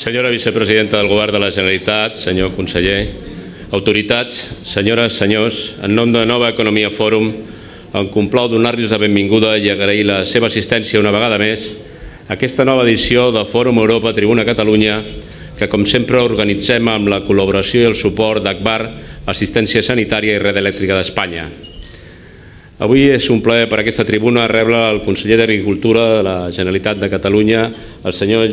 Senyora vicepresidenta del Govern de la Generalitat, senyor conseller, autoritats, senyores, senyors, en nom de Nova Economia Fòrum, em complau donar-los la benvinguda i agrair la seva assistència una vegada més a aquesta nova edició de Fòrum Europa Tribuna Catalunya, que com sempre organitzem amb la col·laboració i el suport d'Agbar, Assistència Sanitària i Red Elèctrica d'Espanya. Avui és un plaer per aquesta tribuna rebre el conseller d'Agricultura de la Generalitat de Catalunya, el senyor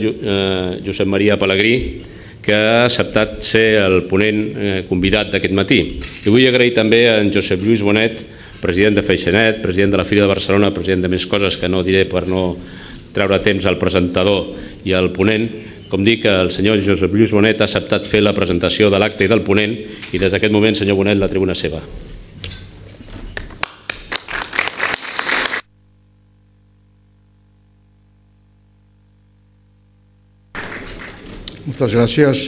Josep Maria Pelegrí, que ha acceptat ser el ponent convidat d'aquest matí. I vull agrair també a en Josep Lluís Bonet, president de Freixenet, president de la Fira de Barcelona, president de més coses que no diré per no treure temps al presentador i al ponent. Com dic, el senyor Josep Lluís Bonet ha acceptat fer la presentació de l'acte i del ponent i des d'aquest moment, senyor Bonet, la tribuna és seva. Moltes gràcies.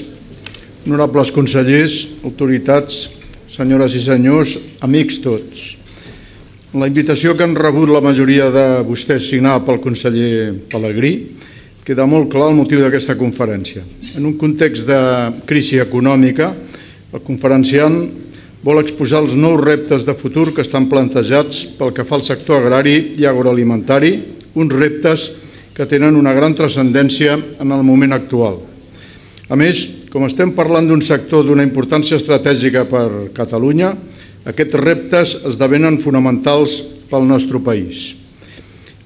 Honorables consellers, autoritats, senyores i senyors, amics tots. La invitació que han rebut la majoria de vostès signada pel conseller Pelegrí queda molt clar el motiu d'aquesta conferència. En un context de crisi econòmica, el conferenciant vol exposar els nous reptes de futur que estan plantejats pel que fa al sector agrari i agroalimentari, uns reptes que tenen una gran transcendència en el moment actual. A més, com estem parlant d'un sector d'una importància estratègica per Catalunya, aquests reptes esdevenen fonamentals pel nostre país.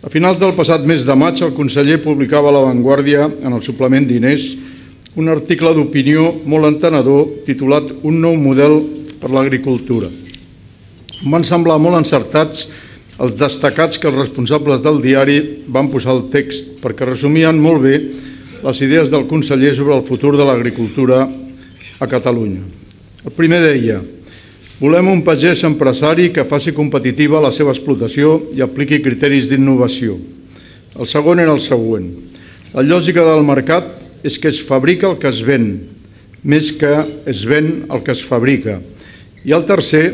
A finals del passat mes de maig, el conseller publicava a La Vanguardia, en el suplement d'Inés, un article d'opinió molt entenedor titulat Un nou model per l'agricultura. Em van semblar molt encertats els destacats que els responsables del diari van posar al text, perquè resumien molt bé les idees del conseller sobre el futur de l'agricultura a Catalunya. El primer deia: volem un pagès empresari que faci competitiva la seva explotació i apliqui criteris d'innovació. El segon era el següent: la lògica del mercat és que es fabrica el que es ven, més que es ven el que es fabrica. I el tercer: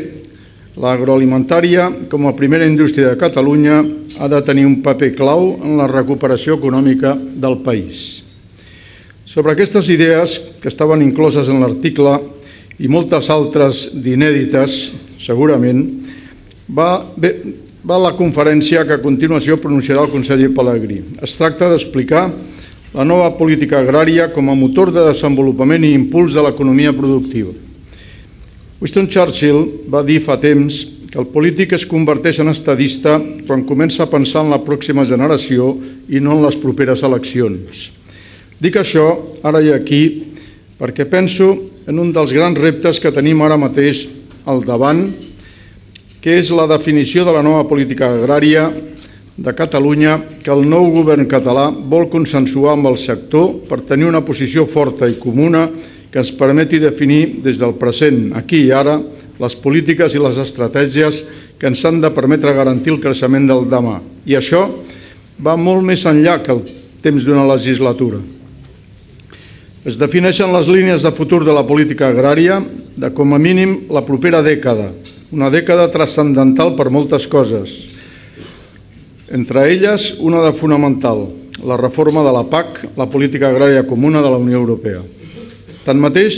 l'agroalimentària, com a primera indústria de Catalunya, ha de tenir un paper clau en la recuperació econòmica del país. Sobre aquestes idees, que estaven incloses en l'article, i moltes altres d'inèdites, segurament, va la conferència que a continuació pronunciarà el conseller Pelegrí. Es tracta d'explicar la nova política agrària com a motor de desenvolupament i impuls de l'economia productiva. Winston Churchill va dir fa temps que el polític es converteix en estadista quan comença a pensar en la pròxima generació i no en les properes eleccions. Dic això ara i aquí perquè penso en un dels grans reptes que tenim ara mateix al davant, que és la definició de la nova política agrària de Catalunya que el nou govern català vol consensuar amb el sector per tenir una posició forta i comuna que ens permeti definir des del present, aquí i ara, les polítiques i les estratègies que ens han de permetre garantir el creixement del demà. I això va molt més enllà que el temps d'una legislatura. Es defineixen les línies de futur de la política agrària de, com a mínim, la propera dècada, una dècada transcendental per moltes coses. Entre elles, una de fonamental, la reforma de la PAC, la política agrària comuna de la Unió Europea. Tanmateix,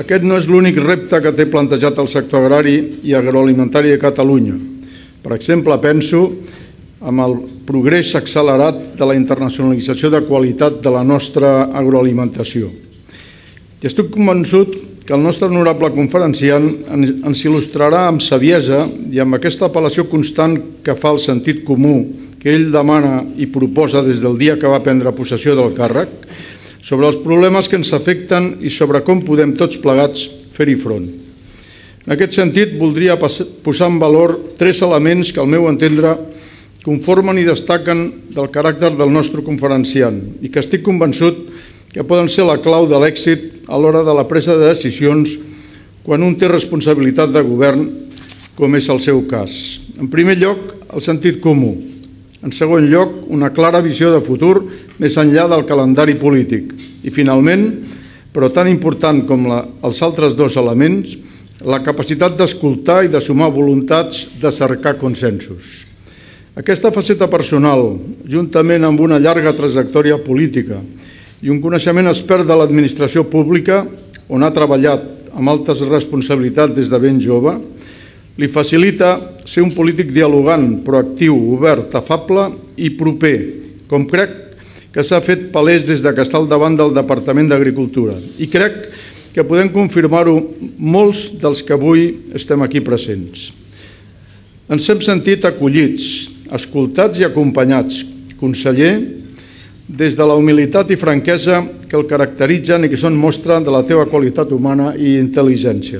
aquest no és l'únic repte que té plantejat el sector agrari i agroalimentari de Catalunya. Per exemple, penso amb el progrés accelerat de la internacionalització de qualitat de la nostra agroalimentació. I estic convençut que el nostre honorable conferenciant ens il·lustrarà amb saviesa i amb aquesta apel·lació constant que fa el sentit comú que ell demana i proposa des del dia que va prendre possessió del càrrec, sobre els problemes que ens afecten i sobre com podem tots plegats fer-hi front. En aquest sentit, voldria posar en valor 3 elements que, al meu entendre, conformen i destaquen del caràcter del nostre conferenciant i que estic convençut que poden ser la clau de l'èxit a l'hora de la presa de decisions quan un té responsabilitat de govern, com és el seu cas. En primer lloc, el sentit comú. En segon lloc, una clara visió de futur més enllà del calendari polític. I finalment, però tan important com els altres 2 elements, la capacitat d'escoltar i de sumar voluntats de cercar consensos. Aquesta faceta personal, juntament amb una llarga trajectòria política i un coneixement expert de l'administració pública, on ha treballat amb altes responsabilitats des de ben jove, li facilita ser un polític dialogant, proactiu, obert, afable i proper, com crec que s'ha fet palès des que està al davant del Departament d'Agricultura. I crec que podem confirmar-ho molts dels que avui estem aquí presents. Ens hem sentit acollits, escoltats i acompanyats, conseller, des de la humilitat i franquesa que el caracteritzen i que són mostra de la teva qualitat humana i intel·ligència.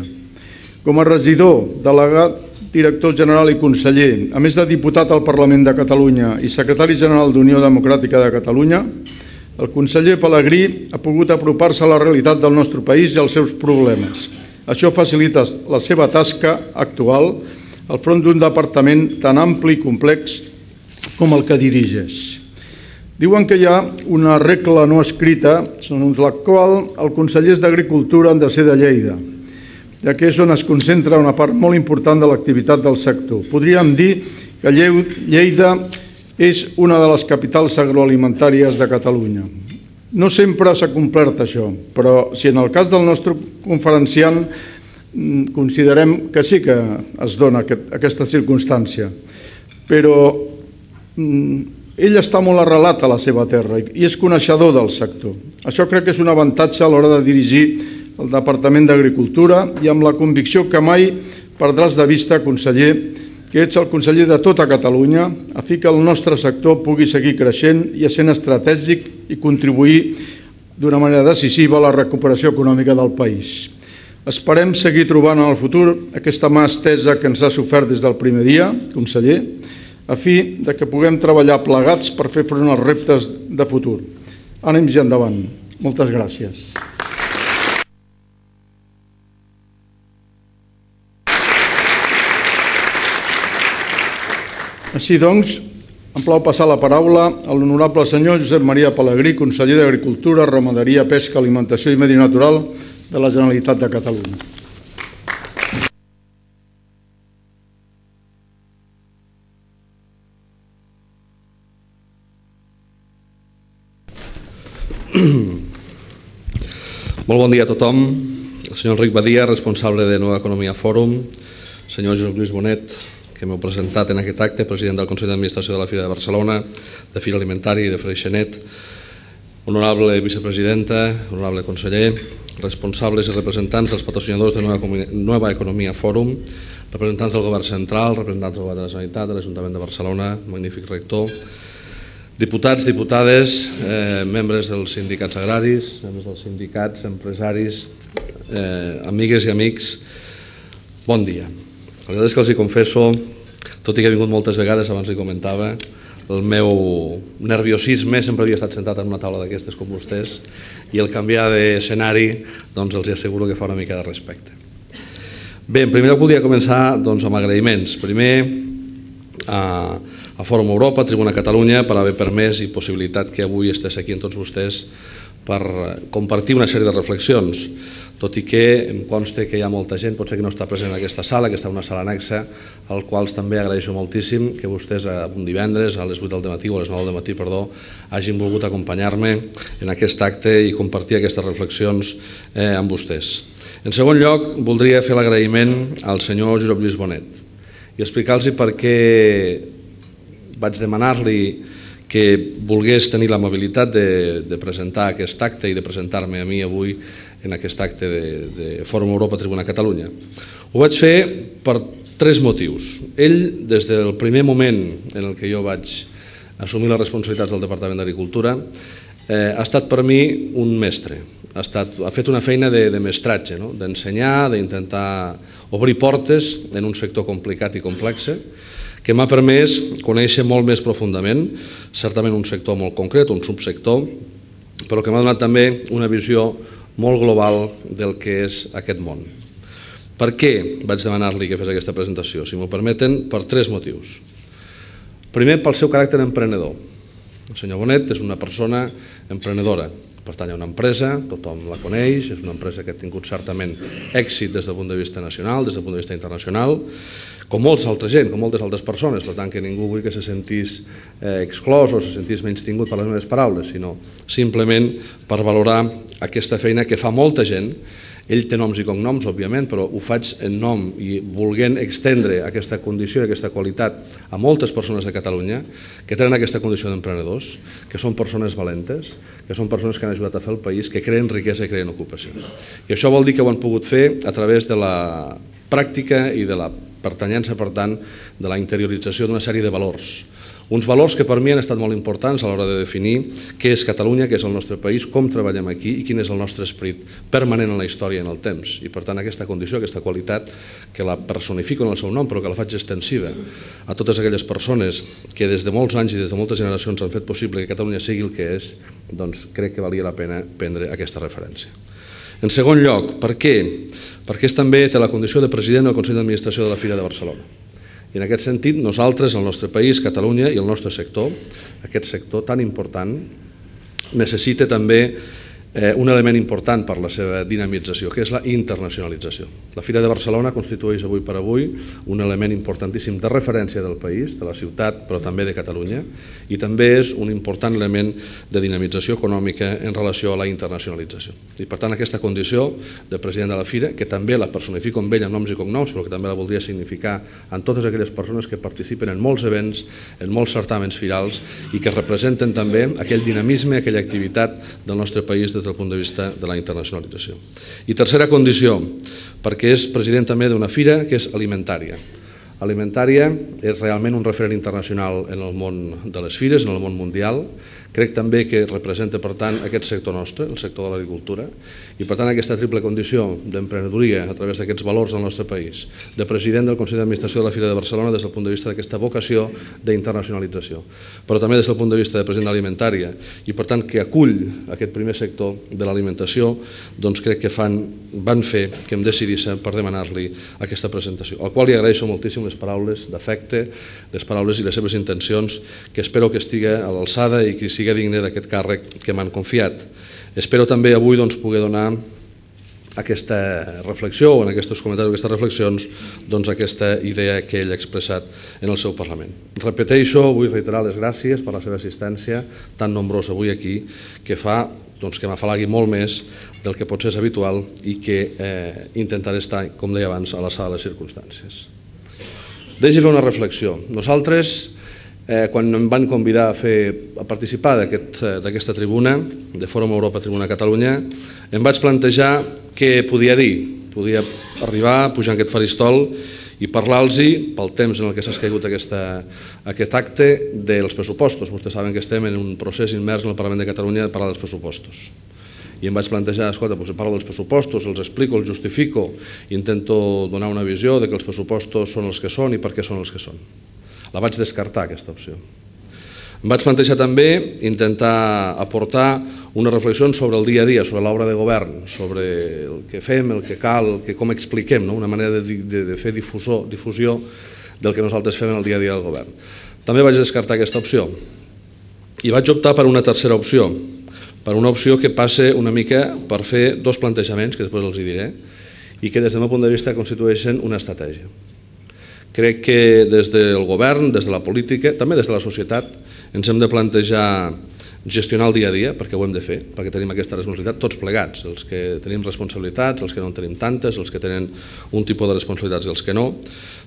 Com a regidor, delegat, director general i conseller, a més de diputat al Parlament de Catalunya i secretari general d'Unió Democràtica de Catalunya, el conseller Pelegrí ha pogut apropar-se a la realitat del nostre país i als seus problemes. Això facilita la seva tasca actual al front d'un departament tan ampli i complex com el que dirigeix. Diuen que hi ha una regla no escrita segons la qual els consellers d'Agricultura han de ser de Lleida, ja que és on es concentra una part molt important de l'activitat del sector. Podríem dir que Lleida és una de les capitals agroalimentàries de Catalunya. No sempre s'ha complert això, però si en el cas del nostre conferenciant considerem que sí que es dona aquesta circumstància, però ell està molt arrelat a la seva terra i és coneixedor del sector. Això crec que és un avantatge a l'hora de dirigir el Departament d'Agricultura i amb la convicció que mai perdràs de vista, conseller, que ets el conseller de tota Catalunya, a fi que el nostre sector pugui seguir creixent i sent estratègic i contribuir d'una manera decisiva a la recuperació econòmica del país. Esperem seguir trobant en el futur aquesta mà estesa que ens ha sofert des del primer dia, conseller, a fi que puguem treballar plegats per fer front als reptes de futur. Ànims i endavant. Moltes gràcies. Així doncs, em plau passar la paraula a l'honorable senyor Josep Maria Pelegrí, conseller d'Agricultura, Ramaderia, Pesca, Alimentació i Medi Natural de la Generalitat de Catalunya. Molt bon dia a tothom. El senyor Enric Badia, responsable de Nova Economia Fòrum, senyor Josep Lluís Bonet, que m'heu presentat en aquest acte, president del Consell d'Administració de la Fira de Barcelona, de Fira Alimentària i de Freixenet, honorable vicepresidenta, honorable conseller, responsables i representants dels patrocinadors de Nova Economia Fòrum, representants del Govern Central, representants del Govern de la Generalitat, de l'Ajuntament de Barcelona, magnífic rector, diputats, diputades, membres dels sindicats agraris, membres dels sindicats, empresaris, amigues i amics, bon dia. La veritat és que els hi confesso, tot i que he vingut moltes vegades, abans li comentava, el meu nerviosisme, sempre havia estat sentat en una taula d'aquestes com vostès, i el canviar d'escenari doncs els asseguro que fa una mica de respecte. Bé, en primer lloc voldria començar amb agraïments. Primer a Fòrum Europa, Tribuna Catalunya, per haver permès i possibilitat que avui estigués aquí amb tots vostès per compartir una sèrie de reflexions, tot i que em consta que hi ha molta gent, potser que no està present en aquesta sala, que està en una sala anexa, al qual també agraeixo moltíssim que vostès un divendres a les 8 del matí o a les 9 del matí, hagin volgut acompanyar-me en aquest acte i compartir aquestes reflexions amb vostès. En segon lloc, voldria fer l'agraïment al senyor Josep Lluís Bonet i explicar-los per què vaig demanar-li que volgués tenir l'amabilitat de presentar aquest acte i de presentar-me a mi avui en aquest acte de Fòrum Europa Tribuna Catalunya. Ho vaig fer per 3 motius. Ell, des del primer moment en el que jo vaig assumir les responsabilitats del Departament d'Agricultura, ha estat per mi un mestre. Ha fet una feina de mestratge, d'ensenyar, d'intentar obrir portes en un sector complicat i complex, que m'ha permès conèixer molt més profundament, certament un sector molt concret, un subsector, però que m'ha donat també una visió molt global del que és aquest món. Per què vaig demanar-li que fes aquesta presentació? Si m'ho permeten, per 3 motius. Primer, pel seu caràcter emprenedor. El senyor Bonet és una persona emprenedora. Pertany a una empresa, tothom la coneix, és una empresa que ha tingut certament èxit des del punt de vista nacional, des del punt de vista internacional. com molts altra gent, com moltes altres persones, per tant que ningú vull que se sentís exclòs o se sentís menystingut per les meves paraules, sinó simplement per valorar aquesta feina que fa molta gent. Ell té noms i cognoms, òbviament, però ho faig en nom i volent extendre aquesta condició i aquesta qualitat a moltes persones de Catalunya que tenen aquesta condició d'emprenedors, que són persones valentes, que són persones que han ajudat a fer el país, que creen riquesa i creen ocupació. I això vol dir que ho han pogut fer a través de la pràctica i de la pertanyença, per tant, de la interiorització d'una sèrie de valors. Uns valors que per mi han estat molt importants a l'hora de definir què és Catalunya, què és el nostre país, com treballem aquí i quin és el nostre esperit permanent en la història i en el temps. I per tant aquesta condició, aquesta qualitat, que la personifico en el seu nom però que la faig extensiva a totes aquelles persones que des de molts anys i des de moltes generacions han fet possible que Catalunya sigui el que és, doncs crec que valia la pena prendre aquesta referència. En segon lloc, per què? Perquè també té la condició de president del Consell d'Administració de la Fira de Barcelona. I en aquest sentit, nosaltres, el nostre país, Catalunya i el nostre sector, aquest sector tan important, necessita també un element important per la seva dinamització, que és la internacionalització. La Fira de Barcelona constitueix avui per avui un element importantíssim de referència del país, de la ciutat, però també de Catalunya, i també és un important element de dinamització econòmica en relació a la internacionalització. I per tant, aquesta condició de president de la Fira, que també la personifico amb ell en noms i cognoms, però que també la voldria significar en totes aquelles persones que participen en molts events, en molts certàmens firals i que representen també aquell dinamisme, aquella activitat del nostre país des del punt de vista de la internacionalització. I tercera condició, perquè és president també d'una fira que és alimentària. Alimentària és realment un referent internacional en el món de les fires, en el món mundial. Crec també que representa, per tant, aquest sector nostre, el sector de l'agricultura, i per tant aquesta triple condició d'emprenedoria a través d'aquests valors del nostre país, de president del Consell d'Administració de la Fira de Barcelona des del punt de vista d'aquesta vocació d'internacionalització, però també des del punt de vista de president alimentària, i per tant que acull aquest primer sector de l'alimentació, doncs crec que van fer que em decidís per demanar-li aquesta presentació, al qual li agraeixo moltíssim les paraules d'afecte, les paraules i les seves intencions, que espero que estigui a l'alçada i que sigui digne d'aquest càrrec que m'han confiat. Espero també avui poder donar aquesta reflexió o en aquests comentaris, aquestes reflexions, aquesta idea que ell ha expressat en el seu Parlament. Repeteixo, vull reiterar les gràcies per la seva assistència tan nombrosa avui aquí, que fa que m'afalagui molt més del que potser és habitual i que intentaré estar, com deia abans, a l'alçada de les circumstàncies. Deixi fer una reflexió. Nosaltres, quan em van convidar a participar d'aquesta tribuna, de Fòrum Europa Tribuna Catalunya, em vaig plantejar què podia dir. Podia arribar, pujar en aquest faristol i parlar-los, pel temps en què s'ha escaigut aquest acte, dels pressupostos. Vostès saben que estem en un procés immers en el Parlament de Catalunya de parlar dels pressupostos. I em vaig plantejar, escolta, parlo dels pressupostos, els explico, els justifico, intento donar una visió de que els pressupostos són els que són i per què són els que són. La vaig descartar, aquesta opció. Em vaig plantejar també intentar aportar una reflexió sobre el dia a dia, sobre l'obra de govern, sobre el que fem, el que cal, com expliquem, una manera de fer difusió del que nosaltres fem en el dia a dia del govern. També vaig descartar aquesta opció i vaig optar per una tercera opció, per una opció que passa una mica per fer dos plantejaments, que després els diré, i que des del meu punt de vista constitueixen una estratègia. Crec que des del govern, des de la política, també des de la societat, ens hem de plantejar gestionar el dia a dia, perquè ho hem de fer, perquè tenim aquesta responsabilitat tots plegats, els que tenim responsabilitats, els que no en tenim tantes, els que tenen un tipus de responsabilitats i els que no.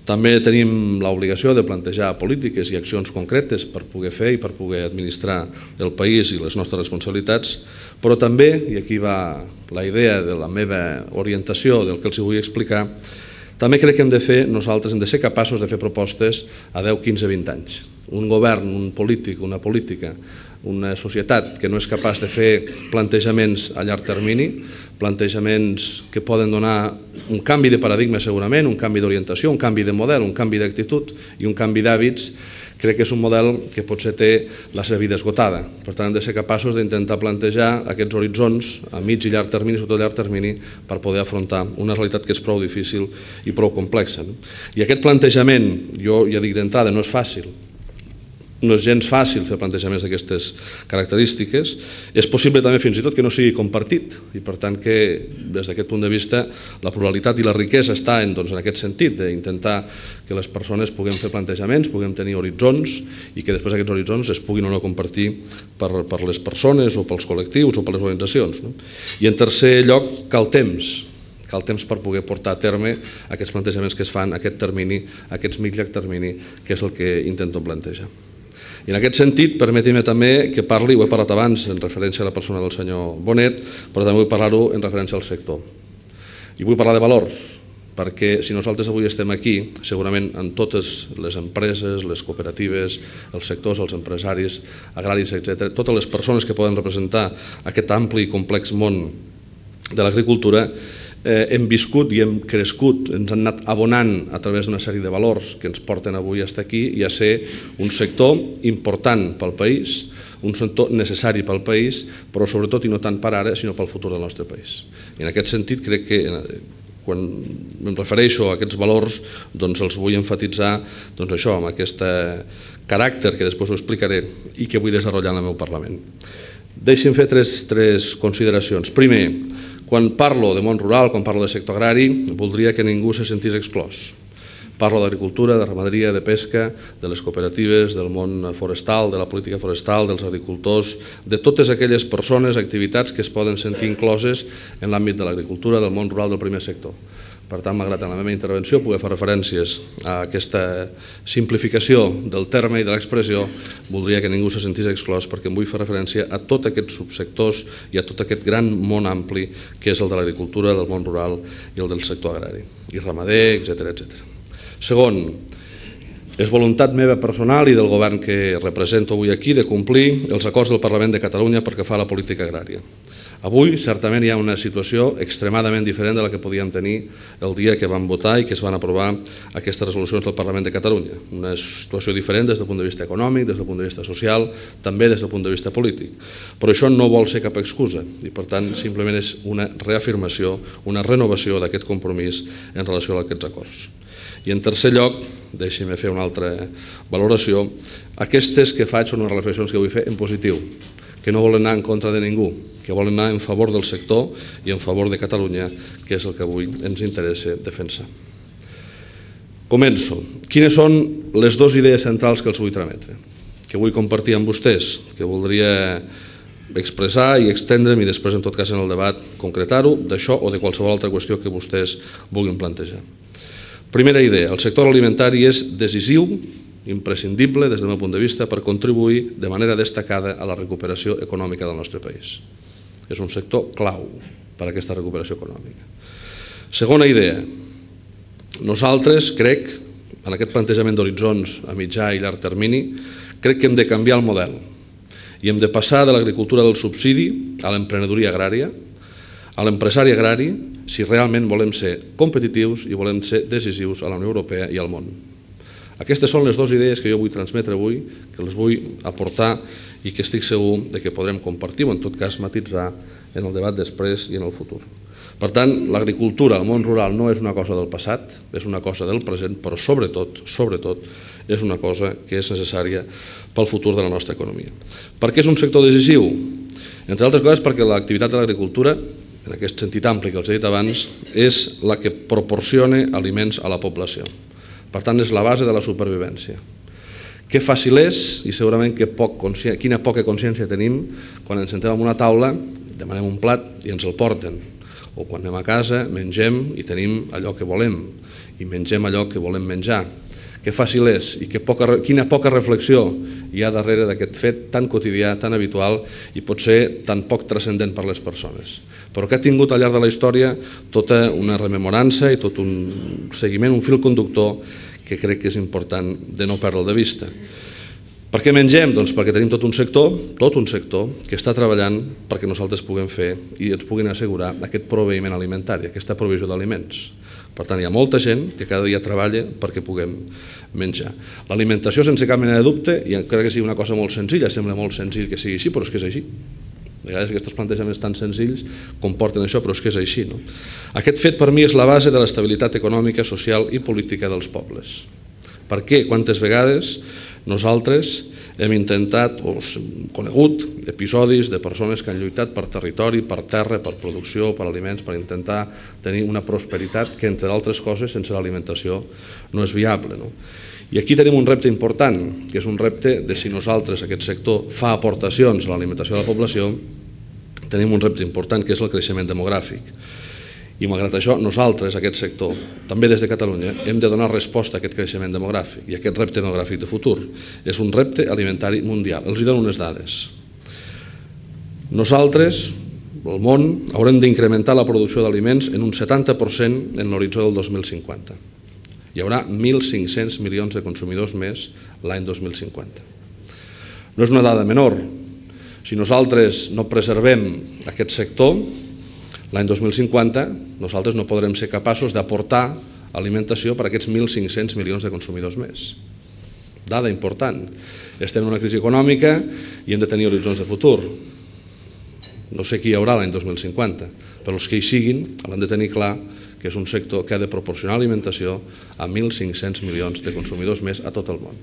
També tenim l'obligació de plantejar polítiques i accions concretes per poder fer i per poder administrar el país i les nostres responsabilitats, però també, i aquí va la idea de la meva orientació del que els vull explicar, també crec que nosaltres hem de ser capaços de fer propostes a 10, 15, 20 anys. Un govern, un polític, una política, una societat que no és capaç de fer plantejaments a llarg termini, plantejaments que poden donar un canvi de paradigma segurament, un canvi d'orientació, un canvi de model, un canvi d'actitud i un canvi d'hàbits, crec que és un model que potser té la seva vida esgotada. Per tant, hem de ser capaços d'intentar plantejar aquests horitzons a mig i llarg termini, sobretot a llarg termini, per poder afrontar una realitat que és prou difícil i prou complexa. I aquest plantejament, jo ja dic d'entrada, no és fàcil. no és gens fàcil fer plantejaments d'aquestes característiques. És possible també fins i tot que no sigui compartit i per tant que des d'aquest punt de vista la pluralitat i la riquesa està en aquest sentit d'intentar que les persones puguem fer plantejaments, puguem tenir horitzons i que després aquests horitzons es puguin o no compartir per les persones o pels col·lectius o per les organitzacions. I en tercer lloc cal temps per poder portar a terme aquests plantejaments que es fan, aquest termini, aquests mitjà termini, que és el que intento plantejar. I en aquest sentit, permeti'm també que parli, ho he parlat abans en referència a la persona del senyor Bonet, però també vull parlar-ho en referència al sector. I vull parlar de valors, perquè si nosaltres avui estem aquí, segurament en totes les empreses, les cooperatives, els sectors, els empresaris, agraris, etc., totes les persones que poden representar aquest ampli i complex món de l'agricultura, hem viscut i hem crescut, ens han anat abonant a través d'una sèrie de valors que ens porten avui fins aquí i a ser un sector important pel país, un sector necessari pel país, però sobretot i no tant per ara, sinó pel futur del nostre país. I en aquest sentit crec que quan em refereixo a aquests valors els vull enfatitzar això, amb aquest caràcter que després ho explicaré i que vull desenvolupar en el meu Parlament. Deixi'm fer tres consideracions. Primer, quan parlo de món rural, quan parlo de sector agrari, voldria que ningú se sentís exclòs. Parlo d'agricultura, de ramaderia, de pesca, de les cooperatives, del món forestal, de la política forestal, dels agricultors, de totes aquelles persones, activitats que es poden sentir incloses en l'àmbit de l'agricultura, del món rural, del primer sector. Per tant, malgrat en la meva intervenció poder fer referències a aquesta simplificació del terme i de l'expressió, voldria que ningú se sentís exclòs perquè em vull fer referència a tots aquests subsectors i a tot aquest gran món ampli que és el de l'agricultura, del món rural i el del sector agrari, i ramader, etc. Segon, és voluntat meva personal i del govern que represento avui aquí de complir els acords del Parlament de Catalunya pel que fa a la política agrària. Avui, certament, hi ha una situació extremadament diferent de la que podíem tenir el dia que vam votar i que es van aprovar aquestes resolucions del Parlament de Catalunya. Una situació diferent des del punt de vista econòmic, des del punt de vista social, també des del punt de vista polític. Però això no vol ser cap excusa i, per tant, simplement és una reafirmació, una renovació d'aquest compromís en relació a aquests acords. I en tercer lloc, deixi'm fer una altra valoració, aquestes que faig són unes reflexions que vull fer en positiu, que no volen anar en contra de ningú, que volen anar en favor del sector i en favor de Catalunya, que és el que avui ens interessa defensar. Començo. Quines són les dues idees centrals que els vull trametre, que vull compartir amb vostès, que voldria expressar i extendre'm i després, en tot cas, en el debat, concretar-ho d'això o de qualsevol altra qüestió que vostès vulguin plantejar. Primera idea, el sector alimentari és decisiu, imprescindible des del meu punt de vista per contribuir de manera destacada a la recuperació econòmica del nostre país. És un sector clau per a aquesta recuperació econòmica. Segona idea, nosaltres, crec, en aquest plantejament d'horitzons a mitjà i llarg termini, crec que hem de canviar el model i hem de passar de l'agricultura del subsidi a l'emprenedoria agrària, a l'empresari agrari, si realment volem ser competitius i volem ser decisius a la Unió Europea i al món. Aquestes són les dues idees que jo vull transmetre avui, que les vull aportar i que estic segur que podrem compartir o en tot cas matitzar en el debat després i en el futur. Per tant, l'agricultura, el món rural no és una cosa del passat, és una cosa del present, però sobretot és una cosa que és necessària pel futur de la nostra economia. Per què és un sector decisiu? Entre altres coses perquè l'activitat de l'agricultura, en aquest sentit ampli que els he dit abans, és la que proporciona aliments a la població. Per tant, és la base de la supervivència. Que fàcil és, i segurament quina poca consciència tenim quan ens sentem en una taula, demanem un plat i ens el porten. O quan anem a casa, mengem i tenim allò que volem, i mengem allò que volem menjar. Que fàcil és i quina poca reflexió hi ha darrere d'aquest fet tan quotidià, tan habitual i potser tan poc transcendent per les persones. Però que ha tingut al llarg de la història tota una rememorança i tot un seguiment, un fil conductor que crec que és important de no perdre'l de vista. Per què mengem? Doncs perquè tenim tot un sector que està treballant perquè nosaltres puguem fer i ens puguin assegurar aquest proveïment alimentari, aquesta provisió d'aliments. Per tant, hi ha molta gent que cada dia treballa perquè puguem menjar. L'alimentació, sense cap mena de dubte, i encara que sigui una cosa molt senzilla, sembla molt senzill que sigui així, però és que és així. A vegades aquests plantejaments tan senzills comporten això, però és que és així. Aquest fet per mi és la base de l'estabilitat econòmica, social i política dels pobles. Per què? Quantes vegades nosaltres hem intentat o conegut episodis de persones que han lluitat per territori, per terra, per producció, per aliments, per intentar tenir una prosperitat que, entre altres coses, sense l'alimentació no és viable. I aquí tenim un repte important, que és un repte de si nosaltres, aquest sector, fa aportacions a l'alimentació de la població, tenim un repte important que és el creixement demogràfic. I malgrat això, nosaltres, aquest sector, també des de Catalunya, hem de donar resposta a aquest creixement demogràfic i a aquest repte demogràfic de futur. És un repte alimentari mundial. Els dono unes dades. Nosaltres, el món, haurem d'incrementar la producció d'aliments en un 70% en l'horitzó del 2050. Hi haurà 1.500 milions de consumidors més l'any 2050. No és una dada menor. Si nosaltres no preservem aquest sector, l'any 2050 nosaltres no podrem ser capaços d'aportar alimentació per a aquests 1.500 milions de consumidors més. Dada important. Estem en una crisi econòmica i hem de tenir horitzons de futur. No sé qui hi haurà l'any 2050, però els que hi siguin han de tenir clar que és un sector que ha de proporcionar alimentació a 1.500 milions de consumidors més a tot el món.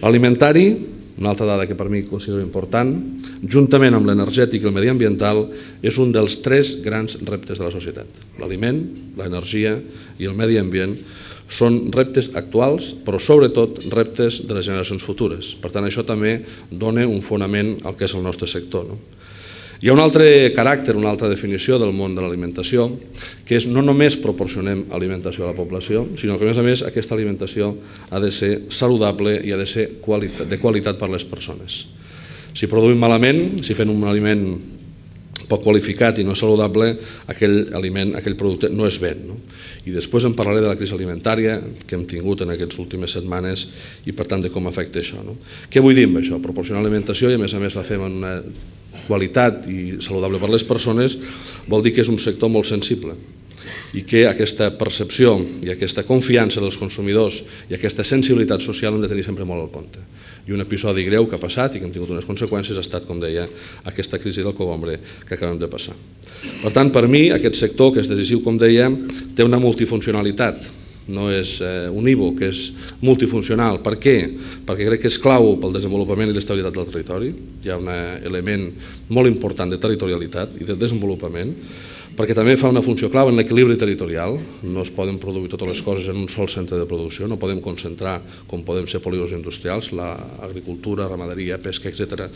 L'alimentari, una altra dada que per mi considero important, juntament amb l'energètic i el mediambiental, és un dels 3 grans reptes de la societat. L'aliment, l'energia i el medi ambient són reptes actuals, però sobretot reptes de les generacions futures. Per tant, això també dona un fonament al que és el nostre sector. Hi ha un altre caràcter, una altra definició del món de l'alimentació, que és no només proporcionem alimentació a la població, sinó que a més aquesta alimentació ha de ser saludable i ha de ser de qualitat per a les persones. Si produïm malament, si fem un aliment poc qualificat i no saludable, aquell producte no es ven. I després en parlaré de la crisi alimentària que hem tingut en aquestes últimes setmanes i per tant de com afecta això. Què vull dir amb això? Proporcionar alimentació i a més la fem en una qualitat i saludable per a les persones vol dir que és un sector molt sensible i que aquesta percepció i aquesta confiança dels consumidors i aquesta sensibilitat social hem de tenir sempre molt al compte. I un episodi greu que ha passat i que hem tingut unes conseqüències ha estat, com deia, aquesta crisi del cogombre que acabem de passar. Per tant, per mi, aquest sector, que és decisiu, com deia, té una multifuncionalitat. No és unívoc, és multifuncional. Per què? Perquè crec que és clau pel desenvolupament i l'estabilitat del territori. Hi ha un element molt important de territorialitat i de desenvolupament, perquè també fa una funció clau en l'equilibri territorial. No es poden produir totes les coses en un sol centre de producció, no podem concentrar com podem ser polígons industrials, l'agricultura, ramaderia, pesca, etc.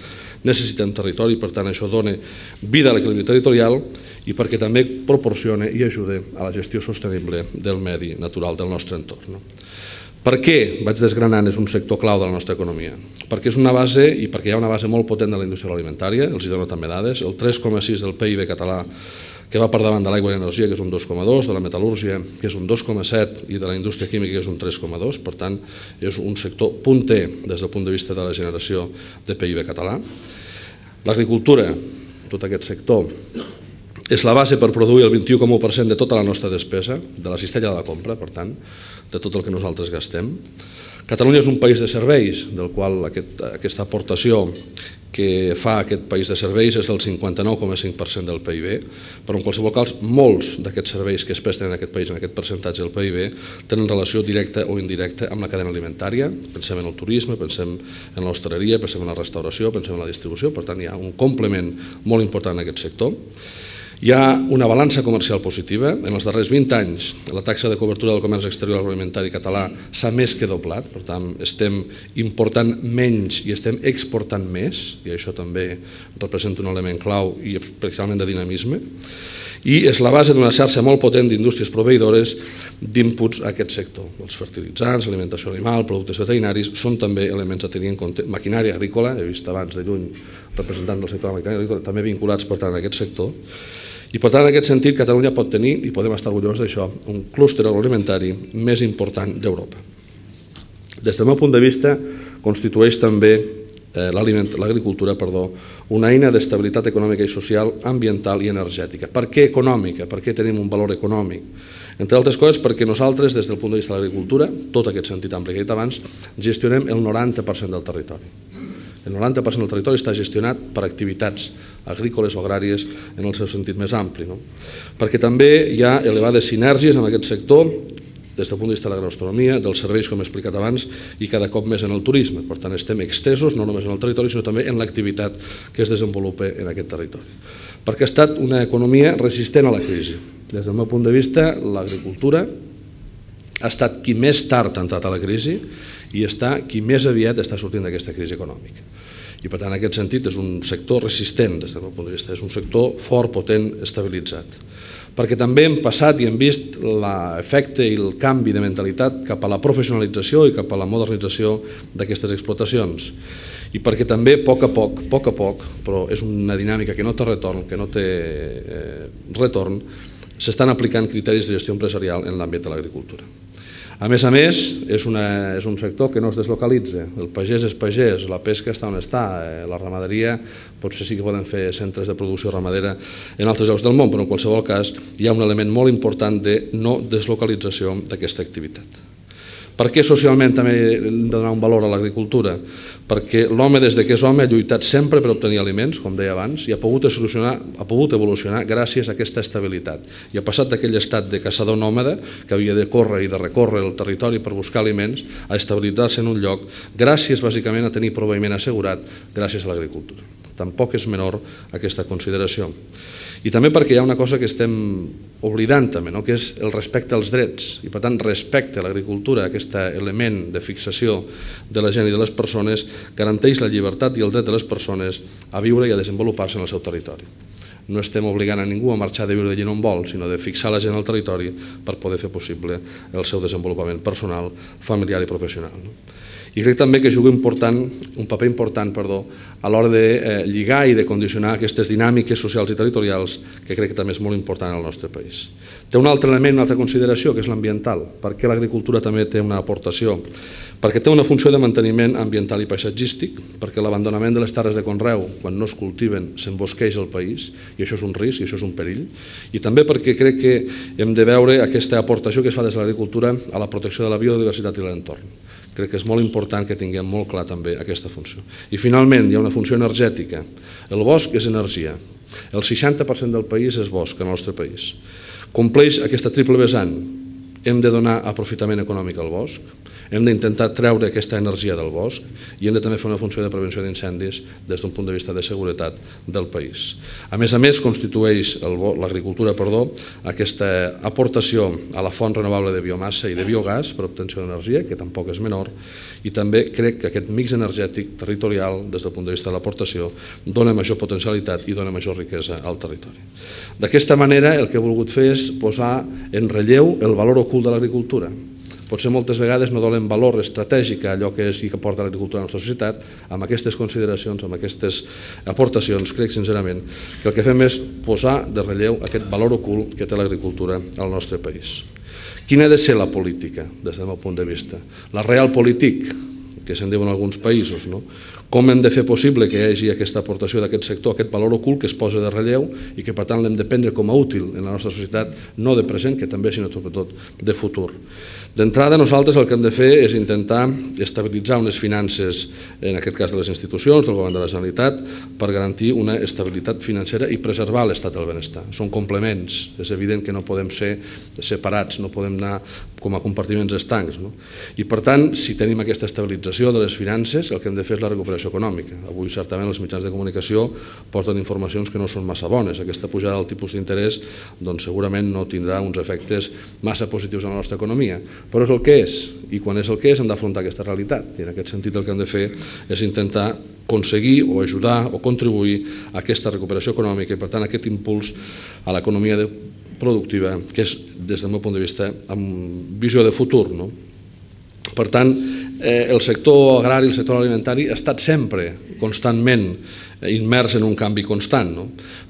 Necessitem territori, per tant això dona vida a l'equilibri territorial i perquè també proporciona i ajuda a la gestió sostenible del medi natural del nostre entorn. Per què, vaig desgranant, és un sector clau de la nostra economia? Perquè és una base i perquè hi ha una base molt potent de la indústria alimentària, els dono també dades, el 3,6 del PIB català que va per davant de l'aigua i l'energia, que és un 2,2, de la metal·lúrgia, que és un 2,7, i de la indústria química, que és un 3,2. Per tant, és un sector punter des del punt de vista de la generació de PIB català. L'agricultura, tot aquest sector, és la base per produir el 21,1% de tota la nostra despesa, de la cistella de la compra, per tant, de tot el que nosaltres gastem. Catalunya és un país de serveis, del qual aquesta aportació que fa aquest país de serveis és del 59,5% del PIB, però en qualsevol cas molts d'aquests serveis que es presten en aquest país, en aquest percentatge del PIB, tenen relació directa o indirecta amb la cadena alimentària. Pensem en el turisme, pensem en l'hostaleria, pensem en la restauració, pensem en la distribució, per tant hi ha un complement molt important en aquest sector. Hi ha una balança comercial positiva. En els darrers 20 anys la taxa de cobertura del comerç exterior agroalimentari català s'ha més que doblat, per tant estem important menys i estem exportant més, i això també representa un element clau i especialment de dinamisme, i és la base d'una xarxa molt potent d'indústries proveïdores d'inputs a aquest sector. Els fertilitzants, alimentació animal, productes veterinaris són també elements a tenir en compte. Maquinària agrícola, he vist abans de lluny representants del sector de la maquinària agrícola, també vinculats per tant a aquest sector. I per tant, en aquest sentit, Catalunya pot tenir, i podem estar orgullosos d'això, un clúster agroalimentari més important d'Europa. Des del meu punt de vista, constitueix també l'agricultura una eina d'estabilitat econòmica i social, ambiental i energètica. Per què econòmica? Per què tenim un valor econòmic? Entre altres coses perquè nosaltres, des del punt de vista de l'agricultura, tot aquest sentit ampli que he dit abans, gestionem el 90% del territori. El 90% del territori està gestionat per activitats agrícoles o agràries en el seu sentit més ampli. Perquè també hi ha elevades sinergies en aquest sector des del punt de vista de la gastronomia, dels serveis, com he explicat abans, i cada cop més en el turisme. Per tant, estem extesos no només en el territori, sinó també en l'activitat que es desenvolupa en aquest territori. Perquè ha estat una economia resistent a la crisi. Des del meu punt de vista, l'agricultura ha estat qui més tard ha entrat a la crisi i està qui més aviat està sortint d'aquesta crisi econòmica. I per tant, en aquest sentit, és un sector resistent des del meu punt de vista, és un sector fort, potent, estabilitzat. Perquè també hem passat i hem vist l'efecte i el canvi de mentalitat cap a la professionalització i cap a la modernització d'aquestes explotacions. I perquè també, a poc a poc, però és una dinàmica que no té retorn, s'estan aplicant criteris de gestió empresarial en l'àmbit de l'agricultura. A més, és un sector que no es deslocalitza. El pagès és pagès, la pesca està on està, la ramaderia potser sí que poden fer centres de producció ramadera en altres llocs del món, però en qualsevol cas hi ha un element molt important de no deslocalització d'aquesta activitat. Per què socialment també hem de donar un valor a l'agricultura? Perquè l'home, des que és home, ha lluitat sempre per obtenir aliments, com deia abans, i ha pogut evolucionar gràcies a aquesta estabilitat. I ha passat d'aquell estat de caçador nòmada, que havia de córrer i de recórrer el territori per buscar aliments, a estabilitzar-se en un lloc, gràcies bàsicament a tenir proveïment assegurat gràcies a l'agricultura. Tampoc és menor aquesta consideració. I també perquè hi ha una cosa que estem oblidant també, que és el respecte als drets. I per tant, respecte a l'agricultura, aquest element de fixació de la gent i de les persones, garanteix la llibertat i el dret de les persones a viure i a desenvolupar-se en el seu territori. No estem obligant a ningú a marxar de viure allí on vol, sinó de fixar la gent al territori per poder fer possible el seu desenvolupament personal, familiar i professional. I crec també que juga un paper important a l'hora de lligar i de condicionar aquestes dinàmiques socials i territorials que crec que també és molt important al nostre país. Té un altre element, una altra consideració, que és l'ambiental. Per què l'agricultura també té una aportació? Perquè té una funció de manteniment ambiental i paisatgístic, perquè l'abandonament de les terres de conreu, quan no es cultiven, s'embosqueix el país, i això és un risc i això és un perill, i també perquè crec que hem de veure aquesta aportació que es fa des de l'agricultura a la protecció de la biodiversitat i l'entorn. Crec que és molt important que tinguem molt clar també aquesta funció. I finalment hi ha una funció energètica. El bosc és energia. El 60% del país és bosc en el nostre país. Compleix aquesta triple vessant. Hem de donar aprofitament econòmic al bosc, hem d'intentar treure aquesta energia del bosc i hem de també fer una funció de prevenció d'incendis des d'un punt de vista de seguretat del país. A més, constitueix l'agricultura aquesta aportació a la font renovable de biomassa i de biogàs per obtenció d'energia, que tampoc és menor, i també crec que aquest mix energètic territorial, des del punt de vista de l'aportació, dona major potencialitat i dona major riquesa al territori. D'aquesta manera, el que he volgut fer és posar en relleu el valor ocult de l'agricultura. Potser moltes vegades no donem valor estratègic a allò que és i que aporta l'agricultura a la nostra societat. Amb aquestes consideracions, amb aquestes aportacions, crec sincerament que el que fem és posar de relleu aquest valor ocult que té l'agricultura al nostre país. Quina ha de ser la política, des del meu punt de vista? La realpolitik, que se'n diuen alguns països, no? Com hem de fer possible que hi hagi aquesta aportació d'aquest sector, aquest valor ocult que es posa de relleu i que per tant l'hem de prendre com a útil en la nostra societat, no de present, que també, sinó sobretot de futur. D'entrada, nosaltres el que hem de fer és intentar estabilitzar unes finances, en aquest cas de les institucions, del govern de la Generalitat, per garantir una estabilitat financera i preservar l'estat del benestar. Són complements, és evident que no podem ser separats, no podem anar com a compartiments estancs. I per tant, si tenim aquesta estabilització de les finances, el que hem de fer és la recuperació econòmica. Avui, certament, els mitjans de comunicació porten informacions que no són massa bones. Aquesta pujada del tipus d'interès segurament no tindrà uns efectes massa positius en la nostra economia, però és el que és, i quan és el que és hem d'afrontar aquesta realitat, i en aquest sentit el que hem de fer és intentar aconseguir o ajudar o contribuir a aquesta recuperació econòmica i per tant a aquest impuls a l'economia productiva que és, des del meu punt de vista, amb visió de futur. Per tant, el sector agrari, el sector alimentari ha estat sempre constantment immers en un canvi constant.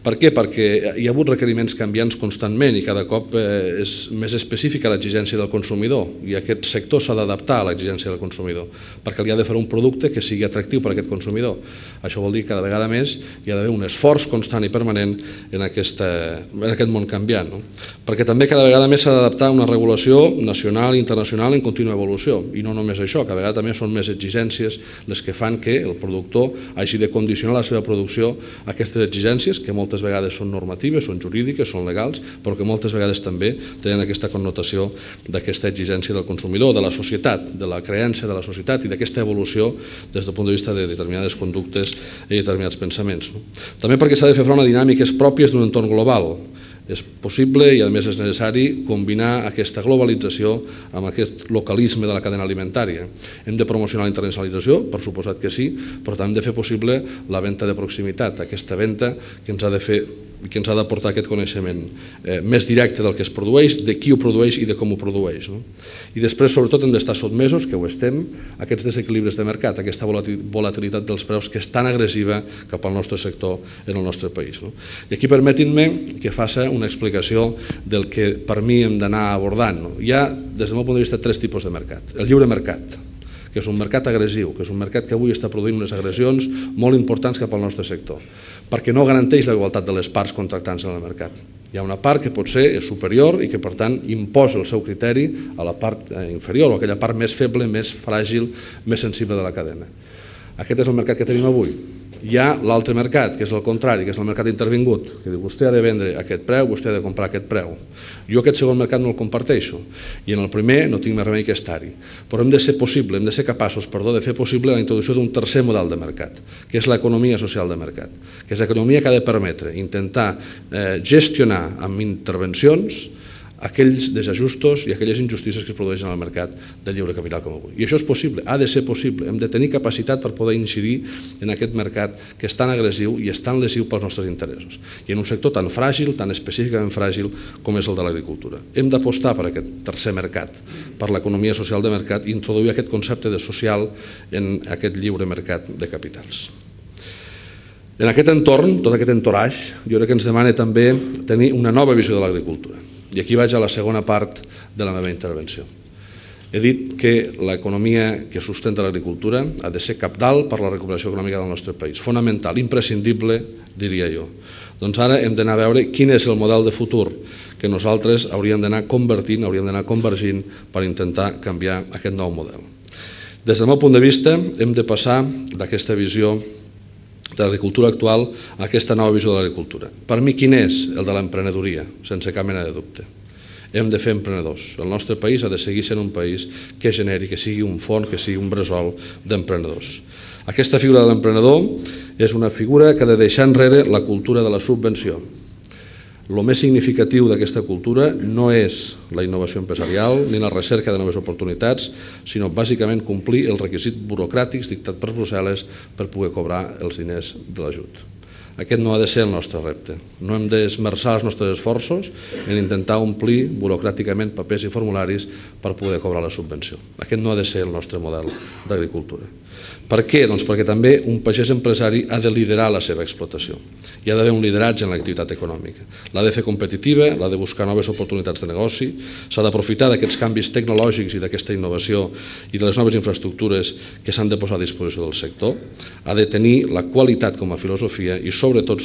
Per què? Perquè hi ha hagut requeriments canviants constantment i cada cop és més específica l'exigència del consumidor i aquest sector s'ha d'adaptar a l'exigència del consumidor perquè li ha de fer un producte que sigui atractiu per a aquest consumidor. Això vol dir que cada vegada més hi ha d'haver un esforç constant i permanent en aquest món canviant. Perquè també cada vegada més s'ha d'adaptar a una regulació nacional i internacional en contínua evolució i no només això, cada vegada també són més exigències les que fan que el productor hagi de condicionar la seva seva producció aquestes exigències, que moltes vegades són normatives, són jurídiques, són legals, però que moltes vegades també tenen aquesta connotació d'aquesta exigència del consumidor, de la societat, de la creença de la societat i d'aquesta evolució des del punt de vista de determinades conductes i determinats pensaments. També perquè s'ha de fer front a dinàmiques pròpies d'un entorn global. És possible i a més és necessari combinar aquesta globalització amb aquest localisme de la cadena alimentària. Hem de promocionar la internacionalització, per suposat que sí, però també hem de fer possible la venda de proximitat, aquesta venda que ens ha de fer i que ens ha d'aportar aquest coneixement més directe del que es produeix, de qui ho produeix i de com ho produeix. I després, sobretot, hem d'estar sotmesos, que ho estem, a aquests desequilibris de mercat, aquesta volatilitat dels preus que és tan agressiva cap al nostre sector en el nostre país. I aquí permetin-me que faci una explicació del que per mi hem d'anar abordant. Hi ha, des del meu punt de vista, tres tipus de mercat. El lliure mercat, que és un mercat agressiu, que és un mercat que avui està produint unes agressions molt importants cap al nostre sector, perquè no garanteix la igualtat de les parts contractants en el mercat. Hi ha una part que potser és superior i que, per tant, imposa el seu criteri a la part inferior, o aquella part més feble, més fràgil, més sensible de la cadena. Aquest és el mercat que tenim avui. Hi ha l'altre mercat, que és el contrari, que és el mercat intervingut, que diu vostè ha de vendre a aquest preu, vostè ha de comprar a aquest preu. Jo aquest segon mercat no el comparteixo i en el primer no tinc més remei que estar-hi. Però hem de ser possible, hem de ser capaços, de fer possible la introducció d'un tercer model de mercat, que és l'economia social de mercat, que és l'economia que ha de permetre intentar gestionar amb intervencions aquells desajustos i aquelles injustícies que es produeixen al mercat del lliure capital com avui. I això és possible, ha de ser possible. Hem de tenir capacitat per poder incidir en aquest mercat que és tan agressiu i és tan lesiu pels nostres interessos. I en un sector tan fràgil, tan específicament fràgil com és el de l'agricultura. Hem d'apostar per aquest tercer mercat, per l'economia social de mercat i introduir aquest concepte de social en aquest lliure mercat de capitals. En aquest entorn, tot aquest entoratge, jo crec que ens demana també tenir una nova visió de l'agricultura. I aquí vaig a la segona part de la meva intervenció. He dit que l'economia que sustenta l'agricultura ha de ser cabdal per la recuperació econòmica del nostre país, fonamental, imprescindible, diria jo. Doncs ara hem d'anar a veure quin és el model de futur que nosaltres hauríem d'anar convertint, hauríem d'anar convergint per intentar canviar aquest nou model. Des del meu punt de vista, hem de passar d'aquesta visió de l'agricultura actual a aquesta nova visió de l'agricultura. Per mi, quin és el de l'emprenedoria? Sense cap mena de dubte. Hem de fer emprenedors. El nostre país ha de seguir sent un país que generi, que sigui un font, que sigui un bressol d'emprenedors. Aquesta figura de l'emprenedor és una figura que ha de deixar enrere la cultura de la subvenció. El més significatiu d'aquesta cultura no és la innovació empresarial ni la recerca de noves oportunitats, sinó bàsicament complir els requisits burocràtics dictats per Brussel·les per poder cobrar els diners de l'ajut. Aquest no ha de ser el nostre repte. No hem d'esmerçar els nostres esforços en intentar omplir burocràticament papers i formularis per poder cobrar la subvenció. Aquest no ha de ser el nostre model d'agricultura. Per què? Doncs perquè també un pagès empresari ha de liderar la seva explotació. Hi ha d'haver un lideratge en l'activitat econòmica. L'ha de fer competitiva, l'ha de buscar noves oportunitats de negoci, s'ha d'aprofitar d'aquests canvis tecnològics i d'aquesta innovació i de les noves infraestructures que s'han de posar a disposició del sector, ha de tenir la qualitat com a filosofia i sobretot,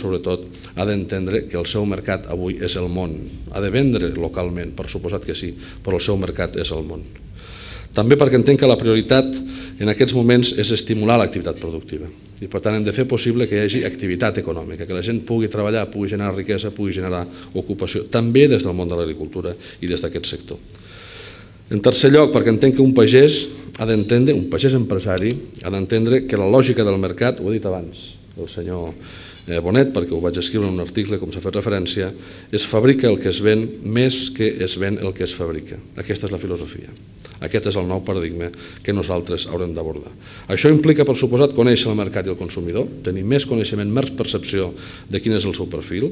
ha d'entendre que el seu mercat avui és el món. Ha de vendre localment, per suposat que sí, però el seu mercat és el món. També perquè entenc que la prioritat en aquests moments és estimular l'activitat productiva i per tant hem de fer possible que hi hagi activitat econòmica, que la gent pugui treballar, pugui generar riquesa, pugui generar ocupació, també des del món de l'agricultura i des d'aquest sector. En tercer lloc, perquè entenc que un pagès ha d'entendre, un pagès empresari ha d'entendre que la lògica del mercat, ho he dit abans, el senyor Bonet, perquè ho vaig escriure en un article com s'ha fet referència, es fabrica el que es ven més que es ven el que es fabrica. Aquesta és la filosofia. Aquest és el nou paradigma que nosaltres haurem d'abordar. Això implica, per suposat, conèixer el mercat i el consumidor, tenir més coneixement, més percepció de quin és el seu perfil,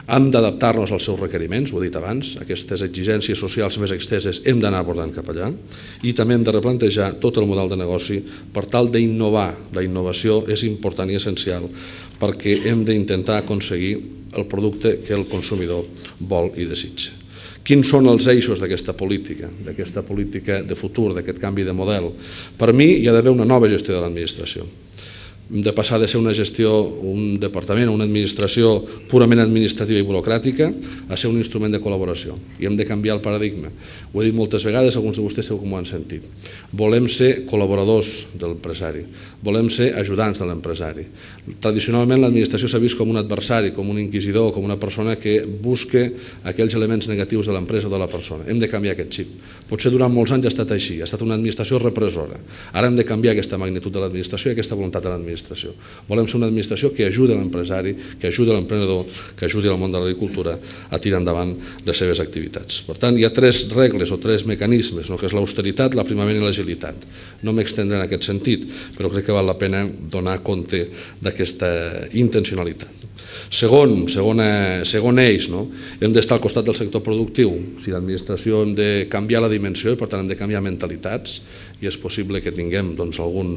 hem d'adaptar-nos als seus requeriments, ho he dit abans, aquestes exigències socials més exteses hem d'anar abordant cap allà, i també hem de replantejar tot el model de negoci per tal d'innovar. La innovació és important i essencial perquè hem d'intentar aconseguir el producte que el consumidor vol i desitja. Quins són els eixos d'aquesta política de futur, d'aquest canvi de model? Per mi hi ha d'haver una nova gestió de l'administració. de passar de ser una gestió, un departament o una administració purament administrativa i burocràtica a ser un instrument de col·laboració. I hem de canviar el paradigma. Ho he dit moltes vegades, alguns de vostès segur que m'ho han sentit. Volem ser col·laboradors de l'empresari, volem ser ajudants de l'empresari. Tradicionalment l'administració s'ha vist com un adversari, com un inquisidor, com una persona que busca aquells elements negatius de l'empresa o de la persona. Hem de canviar aquest xip. Potser durant molts anys ha estat així, ha estat una administració repressora. Ara hem de canviar aquesta magnitud de l'administració i aquesta voluntat de l'administració. Volem ser una administració que ajudi l'empresari, que ajudi l'emprenedor, que ajudi el món de l'agricultura a tirar endavant les seves activitats. Per tant, hi ha 3 regles o 3 mecanismes, que és l'austeritat, l'aprimament i l'agilitat. No m'extendré en aquest sentit, però crec que val la pena donar compte d'aquesta intencionalitat. Segon eix, hem d'estar al costat del sector productiu. Si l'administració hem de canviar la dimensió i per tant hem de canviar mentalitats i és possible que tinguem algun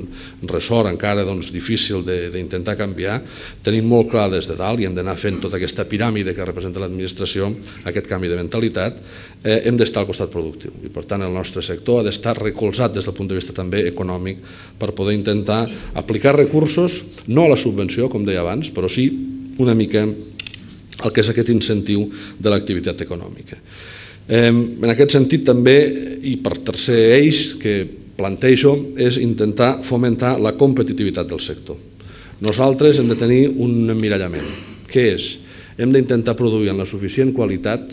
ressort encara difícil d'intentar canviar, tenim molt clar des de dalt i hem d'anar fent tota aquesta piràmide que representa l'administració, aquest canvi de mentalitat, hem d'estar al costat productiu i per tant el nostre sector ha d'estar recolzat des del punt de vista també econòmic per poder intentar aplicar recursos, no a la subvenció com deia abans, però sí una mica el que és aquest incentiu de l'activitat econòmica. En aquest sentit també, i per tercer eix que plantejo, és intentar fomentar la competitivitat del sector. Nosaltres hem de tenir un emmirallament, que és, hem d'intentar produir en la suficient qualitat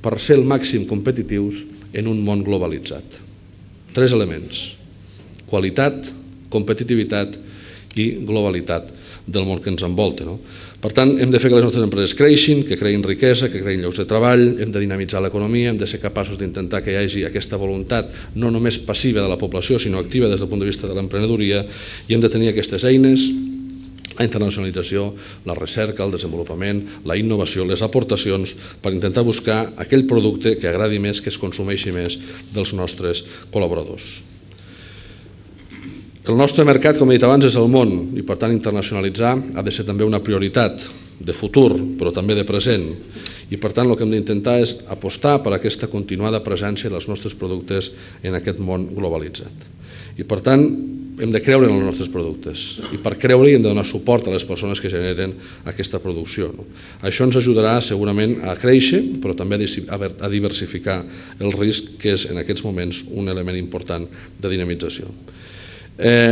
per ser el màxim competitius en un món globalitzat. 3 elements: qualitat, competitivitat i globalitat del món que ens envolta. Per tant, hem de fer que les nostres empreses creixin, que creïn riquesa, que creïn llocs de treball, hem de dinamitzar l'economia, hem de ser capaços d'intentar que hi hagi aquesta voluntat no només passiva de la població, sinó activa des del punt de vista de l'emprenedoria, i hem de tenir aquestes eines, la internacionalització, la recerca, el desenvolupament, la innovació, les aportacions, per intentar buscar aquell producte que agradi més, que es consumeixi més dels nostres col·laboradors. El nostre mercat, com he dit abans, és el món i per tant internacionalitzar ha de ser també una prioritat de futur però també de present i per tant el que hem d'intentar és apostar per aquesta continuada presència dels nostres productes en aquest món globalitzat. I per tant hem de creure en els nostres productes i per creure-hi hem de donar suport a les persones que generen aquesta producció. Això ens ajudarà segurament a créixer però també a diversificar el risc que és en aquests moments un element important de dinamització.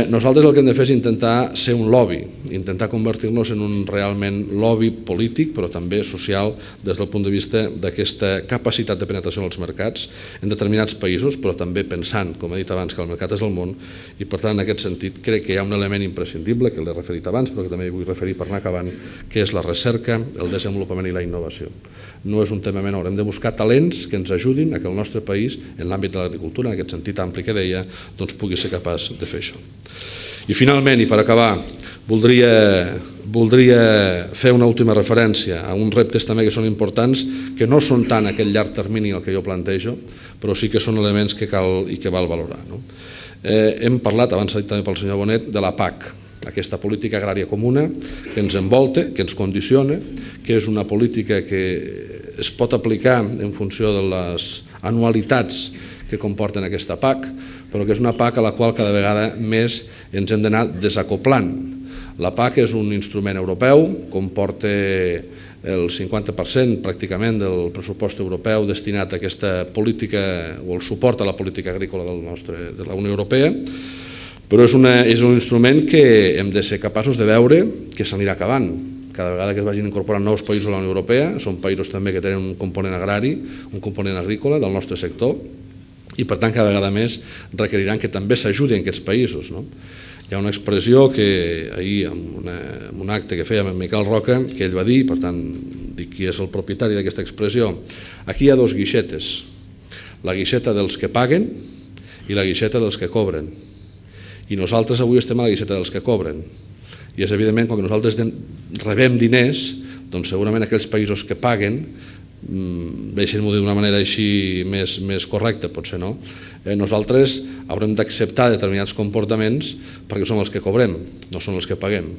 Nosaltres el que hem de fer és intentar ser un lobby, intentar convertir-nos en un realment lobby polític però també social des del punt de vista d'aquesta capacitat de penetració en els mercats en determinats països però també pensant, com he dit abans, que el mercat és el món i per tant en aquest sentit crec que hi ha un element imprescindible que l'he referit abans però que també vull referir per anar acabant, que és la recerca, el desenvolupament i la innovació. No és un tema menor, hem de buscar talents que ens ajudin a que el nostre país en l'àmbit de l'agricultura, en aquest sentit ampli que deia, pugui ser capaç de fer això. I finalment, i per acabar, voldria fer una última referència a uns reptes també que són importants, que no són tant aquell llarg termini el que jo plantejo, però sí que són elements que cal i que val valorar. Hem parlat, abans s'ha dit també pel senyor Bonet, de la PAC, aquesta política agrària comuna que ens envolta, que ens condiciona, que és una política que es pot aplicar en funció de les anualitats que comporten aquesta PAC, però que és una PAC a la qual cada vegada més ens hem d'anar desacoplant. La PAC és un instrument europeu, comporta el 50% pràcticament del pressupost europeu destinat a aquesta política o el suport a la política agrícola de la Unió Europea, però és un instrument que hem de ser capaços de veure que s'anirà acabant. Cada vegada que es vagin incorporant nous països a la Unió Europea, són països també que tenen un component agrari, un component agrícola del nostre sector, i per tant cada vegada més requeriran que també s'ajudi en aquests països. Hi ha una expressió que ahir en un acte que fèiem amb Miquel Roca, que ell va dir, per tant dic qui és el propietari d'aquesta expressió, aquí hi ha 2 guixetes, la guixeta dels que paguen i la guixeta dels que cobren. I nosaltres avui estem a la guixeta dels que cobren. I és evidentment, quan nosaltres rebem diners, doncs segurament aquells països que paguen, deixem-ho dir d'una manera així més correcta, potser no, nosaltres haurem d'acceptar determinats comportaments perquè som els que cobrem, no són els que paguem.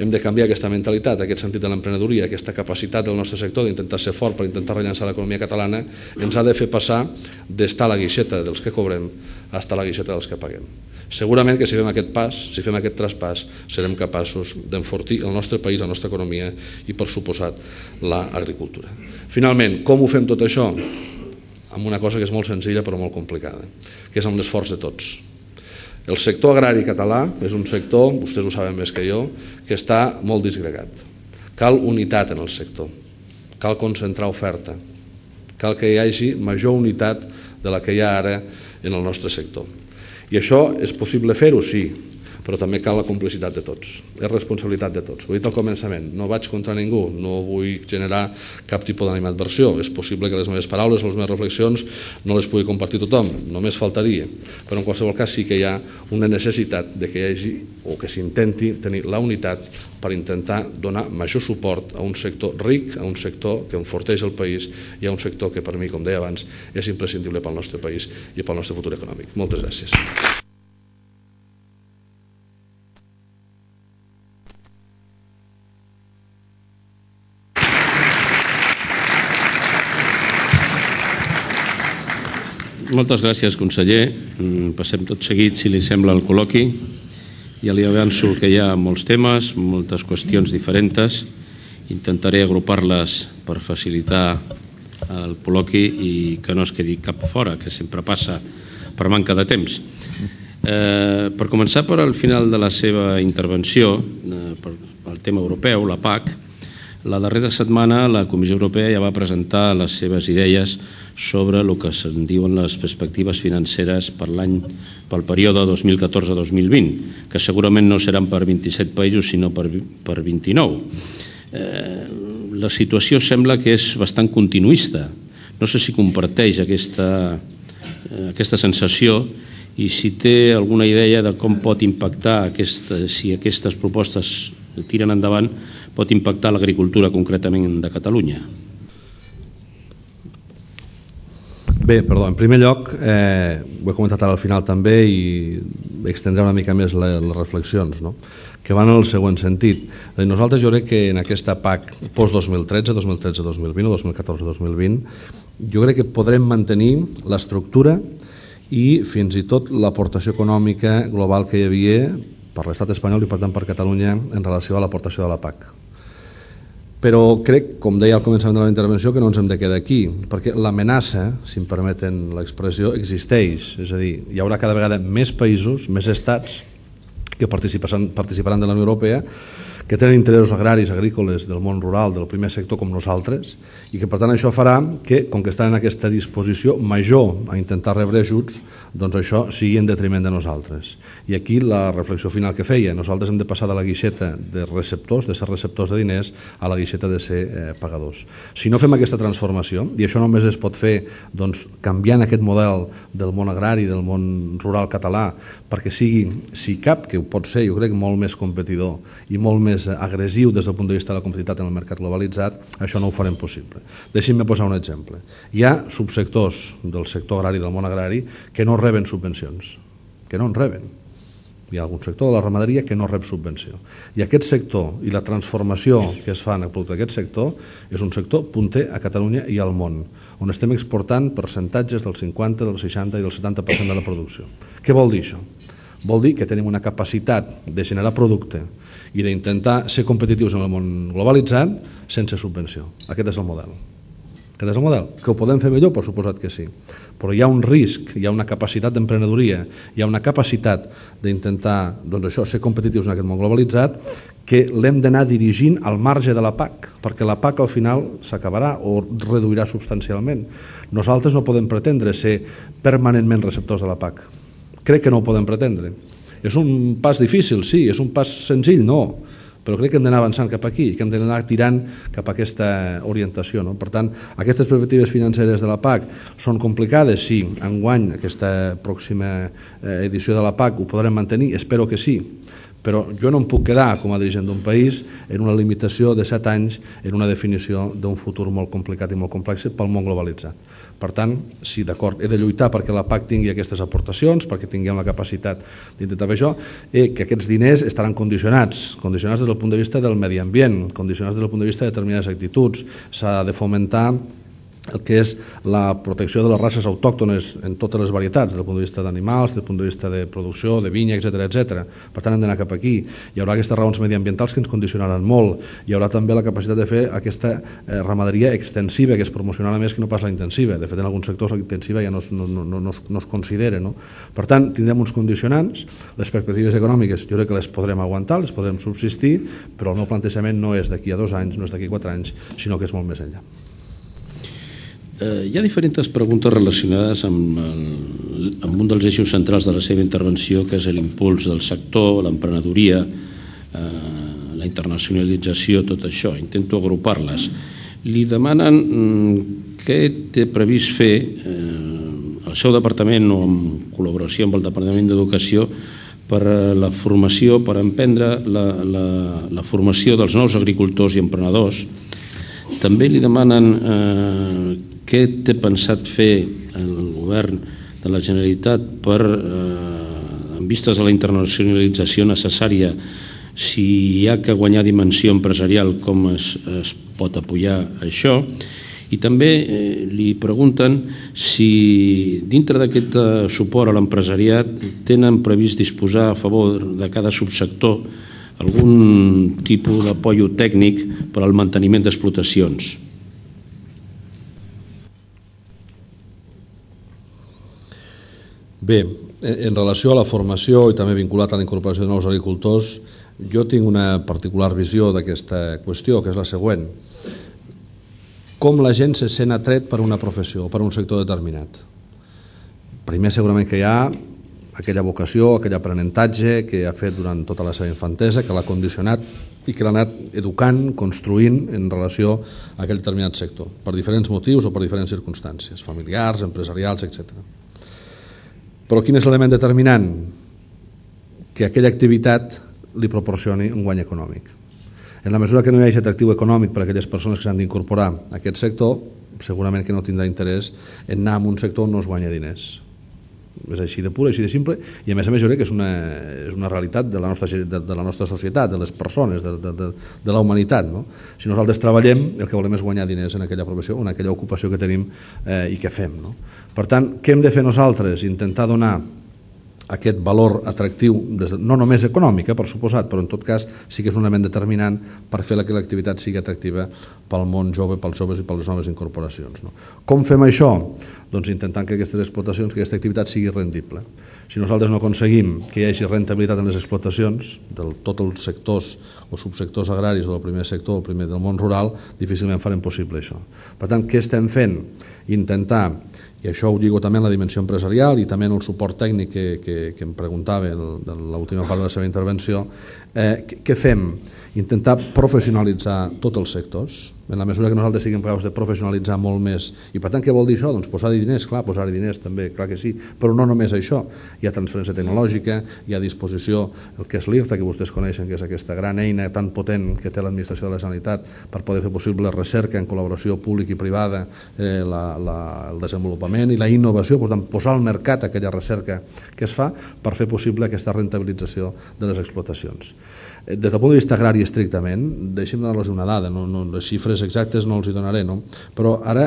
Hem de canviar aquesta mentalitat, aquest sentit de l'emprenedoria, aquesta capacitat del nostre sector d'intentar ser fort per intentar rellançar l'economia catalana, ens ha de fer passar d'estar a la guixeta dels que cobrem a estar a la guixeta dels que paguem. Segurament que si fem aquest pas, si fem aquest traspàs, serem capaços d'enfortir el nostre país, la nostra economia i, per suposat, l'agricultura. Finalment, com ho fem tot això? Amb una cosa que és molt senzilla però molt complicada, que és amb l'esforç de tots. El sector agrari català és un sector, vostès ho saben més que jo, que està molt disgregat. Cal unitat en el sector, cal concentrar oferta, cal que hi hagi major unitat de la que hi ha ara en el nostre sector. I això és possible fer-ho, sí, però també cal la complicitat de tots, és responsabilitat de tots. Ho he dit al començament, no vaig contra ningú, no vull generar cap tipus d'animadversió. És possible que les meves paraules o les meves reflexions no les pugui compartir tothom, només faltaria, però en qualsevol cas sí que hi ha una necessitat de que hi hagi o que s'intenti tenir la unitat per intentar donar major suport a un sector ric, a un sector que enforteix el país i a un sector que per mi, com deia abans, és imprescindible pel nostre país i pel nostre futur econòmic. Moltes gràcies. Moltes gràcies, conseller. Passem tot seguit, si li sembla, al col·loqui. Ja li avanço que hi ha molts temes, moltes qüestions diferents. Intentaré agrupar-les per facilitar el col·loqui i que no es quedi cap fora, que sempre passa per manca de temps. Per començar per al final de la seva intervenció, pel tema europeu, la PAC, la darrera setmana la Comissió Europea ja va presentar les seves idees sobre el que se'n diuen les perspectives financeres pel període 2014-2020, que segurament no seran per 27 països, sinó per 29. La situació sembla que és bastant continuista. No sé si comparteix aquesta sensació i si té alguna idea de com pot impactar, si aquestes propostes tiren endavant, pot impactar l'agricultura concretament de Catalunya. Bé, perdó, en primer lloc, ho he comentat ara al final també i extendré una mica més les reflexions, que van en el següent sentit. Nosaltres jo crec que en aquesta PAC post-2013, 2013-2020 o 2014-2020, jo crec que podrem mantenir l'estructura i fins i tot l'aportació econòmica global que hi havia per l'estat espanyol i per tant per Catalunya en relació a l'aportació de la PAC. Però crec, com deia al començament de la intervenció, que no ens hem de quedar aquí, perquè l'amenaça, si em permeten l'expressió, existeix. És a dir, hi haurà cada vegada més països, més estats que participaran de la Unió Europea, que tenen interessos agraris, agrícoles, del món rural, del primer sector com nosaltres, i que per tant això farà que, com que estan en aquesta disposició major a intentar rebre ajuts, doncs això sigui en detriment de nosaltres. I aquí la reflexió final que feia, nosaltres hem de passar de la guixeta de receptors, de ser receptors de diners, a la guixeta de ser pagadors. Si no fem aquesta transformació, i això només es pot fer canviant aquest model del món agrari, del món rural català, perquè sigui, si cap, que ho pot ser, jo crec, molt més competidor i molt més agressiu des del punt de vista de la competitivitat en el mercat globalitzat, això no ho farem possible. Deixin-me posar un exemple. Hi ha subsectors del sector agrari, del món agrari, que no reben subvencions, que no en reben. Hi ha algun sector de la ramaderia que no rep subvenció. I aquest sector i la transformació que es fa en el producte d'aquest sector és un sector punter a Catalunya i al món, on estem exportant percentatges del 50, del 60 i del 70% de la producció. Què vol dir això? Vol dir que tenim una capacitat de generar producte i d'intentar ser competitius en el món globalitzat sense subvenció. Aquest és el model. Aquest és el model. Que ho podem fer millor? Per suposat que sí. Però hi ha un risc, hi ha una capacitat d'emprenedoria, hi ha una capacitat d'intentar ser competitius en aquest món globalitzat que l'hem d'anar dirigint al marge de la PAC, perquè la PAC al final s'acabarà o reduirà substancialment. Nosaltres no podem pretendre ser permanentment receptors de la PAC. Crec que no ho podem pretendre. És un pas difícil, sí, és un pas senzill, no, però crec que hem d'anar avançant cap aquí, que hem d'anar tirant cap a aquesta orientació. Per tant, aquestes perspectives financeres de la PAC són complicades, sí, enguany aquesta pròxima edició de la PAC ho podrem mantenir, espero que sí, Però jo no em puc quedar, com a dirigent d'un país, en una limitació de 7 anys en una definició d'un futur molt complicat i molt complex pel món globalitzat. Per tant, sí, d'acord, he de lluitar perquè la PAC tingui aquestes aportacions, perquè tinguem la capacitat d'intentar fer això, i que aquests diners estaran condicionats des del punt de vista del medi ambient, condicionats des del punt de vista de determinades actituds. S'ha de fomentar el que és la protecció de les races autòctones en totes les varietats, des del punt de vista d'animals, des del punt de vista de producció, de vinya, etc. Per tant, hem d'anar cap aquí. Hi haurà aquestes raons mediambientals que ens condicionaran molt. Hi haurà també la capacitat de fer aquesta ramaderia extensiva, que es promocionarà més que no pas la intensiva. De fet, en alguns sectors la intensiva ja no es considera. Per tant, tindrem uns condicionants. Les perspectives econòmiques jo crec que les podrem aguantar, les podrem subsistir, però el meu plantejament no és d'aquí a 2 anys, no és d'aquí a 4 anys, sinó que és molt més enllà. Hi ha diferents preguntes relacionades amb un dels eixos centrals de la seva intervenció, que és l'impuls del sector, l'emprenedoria, la internacionalització, tot això. Intento agrupar-les. Li demanen què té previst fer el seu departament o en col·laboració amb el Departament d'Educació per la formació, per emprendre la formació dels nous agricultors i emprenedors. També li demanen què té pensat fer el govern de la Generalitat per, en vistes a la internacionalització necessària, si hi ha que guanyar dimensió empresarial, com es pot apoyar això. I també li pregunten si dintre d'aquest suport a l'empresariat tenen previst disposar a favor de cada subsector algun tipus d'apoyo tècnic per al manteniment d'explotacions. Bé, en relació a la formació i també vinculat a la incorporació de nous agricultors, jo tinc una particular visió d'aquesta qüestió, que és la següent. Com la gent se sent atret per una professió o per un sector determinat? Primer, segurament que hi ha aquella vocació, aquell aprenentatge que ha fet durant tota la seva infantesa, que l'ha condicionat i que l'ha anat educant, construint en relació a aquell determinat sector, per diferents motius o per diferents circumstàncies, familiars, empresarials, etc. Però quin és l'element determinant? Que aquella activitat li proporcioni un guany econòmic. En la mesura que no hi hagi atractiu econòmic per a aquelles persones que s'han d'incorporar a aquest sector, segurament que no tindrà interès en anar a un sector on no es guanya diners. És així de pur, així de simple, i a més jo crec que és una realitat de la nostra societat, de les persones, de la humanitat. Si nosaltres treballem, el que volem és guanyar diners en aquella professió o en aquella ocupació que tenim i que fem. Per tant, què hem de fer nosaltres? Intentar donar aquest valor atractiu, no només econòmic, per suposat, però en tot cas sí que és un element determinant per fer que l'activitat sigui atractiva pel món jove, pels joves i per les noves incorporacions. Com fem això? Doncs intentant que aquestes explotacions, que aquesta activitat sigui rendible. Si nosaltres no aconseguim que hi hagi rentabilitat en les explotacions de tots els sectors o subsectors agraris o del primer sector, el primer del món rural, difícilment farem possible això. Per tant, què estem fent? Intentar, i això ho lligo també en la dimensió empresarial i també en el suport tècnic que em preguntava en l'última part de la seva intervenció, què fem? Intentar professionalitzar tots els sectors, en la mesura que nosaltres siguem capaços de professionalitzar molt més. I per tant, què vol dir això? Doncs posar-hi diners, clar, posar-hi diners també, clar que sí, però no només això. Hi ha transferència tecnològica, hi ha a disposició el que és l'IRTA, que vostès coneixen, que és aquesta gran eina tan potent que té l'administració de la Generalitat per poder fer possible la recerca en col·laboració pública i privada, el desenvolupament i la innovació, per tant, posar al mercat aquella recerca que es fa per fer possible aquesta rentabilització de les explotacions. Des del punt de vista agrari estrictament, deixem donar-los una dada, les xifres exactes no els hi donaré, però ara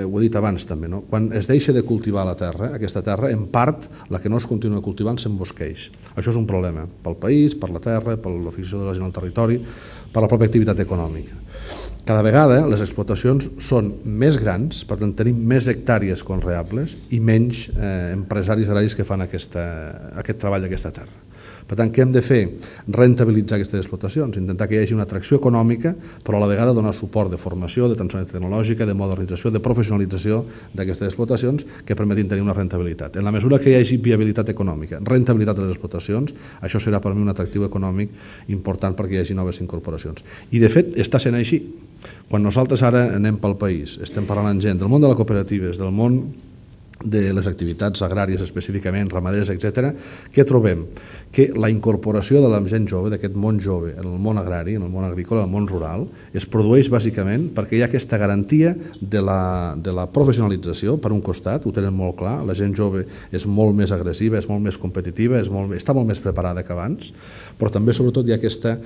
ho he dit abans també, quan es deixa de cultivar la terra, aquesta terra, en part, la que no es continua cultivant s'embosqueix. Això és un problema pel país, per la terra, per la fixació de la gent al territori, per la pròpia activitat econòmica. Cada vegada les explotacions són més grans, per tant tenim més hectàrees conreables i menys empresaris agraris que fan aquest treball d'aquesta terra. Per tant, què hem de fer? Rentabilitzar aquestes explotacions, intentar que hi hagi una atracció econòmica, però a la vegada donar suport de formació, de transferència tecnològica, de modernització, de professionalització d'aquestes explotacions que permetin tenir una rentabilitat. En la mesura que hi hagi viabilitat econòmica, rentabilitat de les explotacions, això serà per mi un atractiu econòmic important perquè hi hagi noves incorporacions. I de fet està sent així. Quan nosaltres ara anem pel país, estem parlant amb gent del món de les cooperatives, del món de les activitats agràries específicament, ramaderes, etc., què trobem? Que la incorporació de la gent jove, d'aquest món jove, en el món agrari, en el món agrícola, en el món rural, es produeix bàsicament perquè hi ha aquesta garantia de la professionalització, per un costat, ho tenen molt clar, la gent jove és molt més agressiva, és molt més competitiva, està molt més preparada que abans, però també, sobretot, hi ha aquesta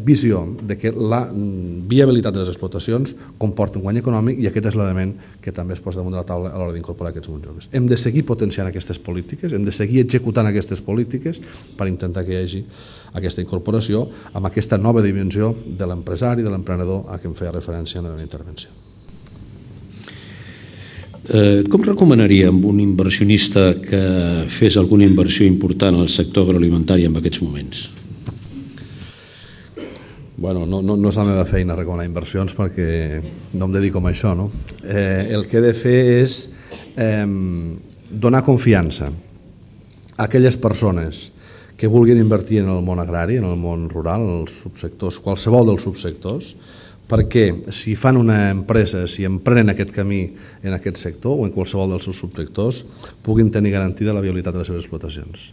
visió de que la viabilitat de les explotacions comporta un guany econòmic i aquest és l'element que també es posa damunt de la taula a l'hora d'incorporar aquests mons joves. Hem de seguir potenciant aquestes polítiques, hem de seguir executant aquestes polítiques per intentar que hi hagi aquesta incorporació amb aquesta nova dimensió de l'empresari, de l'emprenedor a què em feia referència en la meva intervenció. Com recomanaríem un inversionista que fes alguna inversió important al sector agroalimentari en aquests moments? Bueno, no és la meva feina recomanar inversions perquè no em dedico a això, no? El que he de fer és donar confiança a aquelles persones que vulguin invertir en el món agrari, en el món rural, en els subsectors, qualsevol dels subsectors, perquè si fan una empresa, si emprenen aquest camí en aquest sector o en qualsevol dels seus subsectors, puguin tenir garantida la viabilitat de les seves explotacions.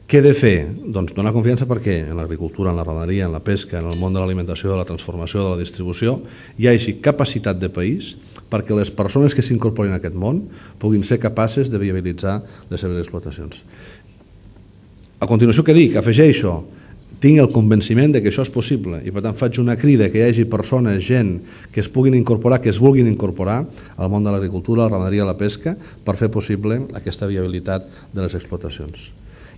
Què he de fer? Doncs donar confiança perquè en l'agricultura, en la ramaderia, en la pesca, en el món de l'alimentació, de la transformació, de la distribució, hi hagi capacitat de país perquè les persones que s'incorporin a aquest món puguin ser capaces de viabilitzar les seves explotacions. A continuació, què dic? Afegeixo, tinc el convenciment de que això és possible i per tant faig una crida que hi hagi persones, gent que es puguin incorporar, que es vulguin incorporar al món de l'agricultura, la ramaderia, la pesca per fer possible aquesta viabilitat de les explotacions.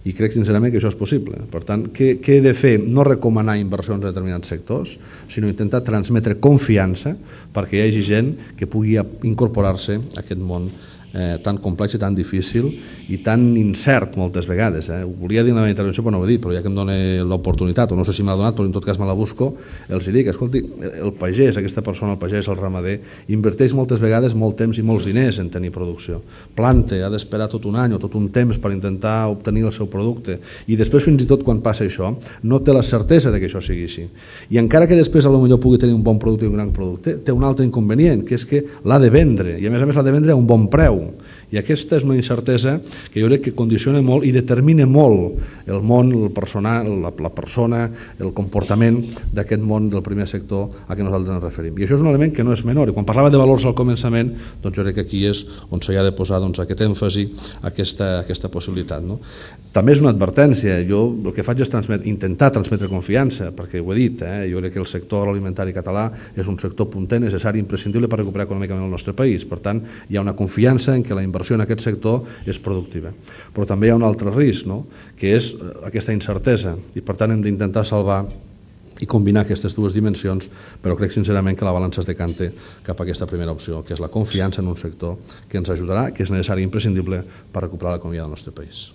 I crec sincerament que això és possible. Per tant, què he de fer? No recomanar inversions en determinats sectors, sinó intentar transmetre confiança perquè hi hagi gent que pugui incorporar-se a aquest món tan complex i tan difícil i tan incert moltes vegades. Ho volia dir en la meva intervenció però no ho he dit, però ja que em dona l'oportunitat, o no sé si me l'ha donat però en tot cas me la busco, els dic, escolti, el pagès, aquesta persona, el pagès, el ramader, inverteix moltes vegades molt temps i molts diners en tenir producció. Planta, ha d'esperar tot un any o tot un temps per intentar obtenir el seu producte i després fins i tot quan passa això no té la certesa de que això sigui així. I encara que després potser pugui tenir un bon producte i un gran producte, té un altre inconvenient, que és que l'ha de vendre i a més l'ha de vendre a un bon preu. I aquesta és una incertesa que jo crec que condiciona molt i determina molt el món, el personal, la persona, el comportament d'aquest món del primer sector a què nosaltres ens referim. I això és un element que no és menor. I quan parlava de valors al començament, doncs jo crec que aquí és on s'hi ha de posar aquest èmfasi, aquesta possibilitat. També és una advertència. Jo el que faig és intentar transmetre confiança, perquè ho he dit, jo crec que el sector agroalimentari català és un sector punter, necessari, imprescindible per recuperar econòmicament el nostre país. Per tant, hi ha una confiança en que la inversió en aquest sector és productiva. Però també hi ha un altre risc, que és aquesta incertesa, i per tant hem d'intentar salvar i combinar aquestes dues dimensions, però crec sincerament que la balança es decanta cap a aquesta primera opció, que és la confiança en un sector que ens ajudarà, que és necessari i imprescindible per recuperar l'economia del nostre país.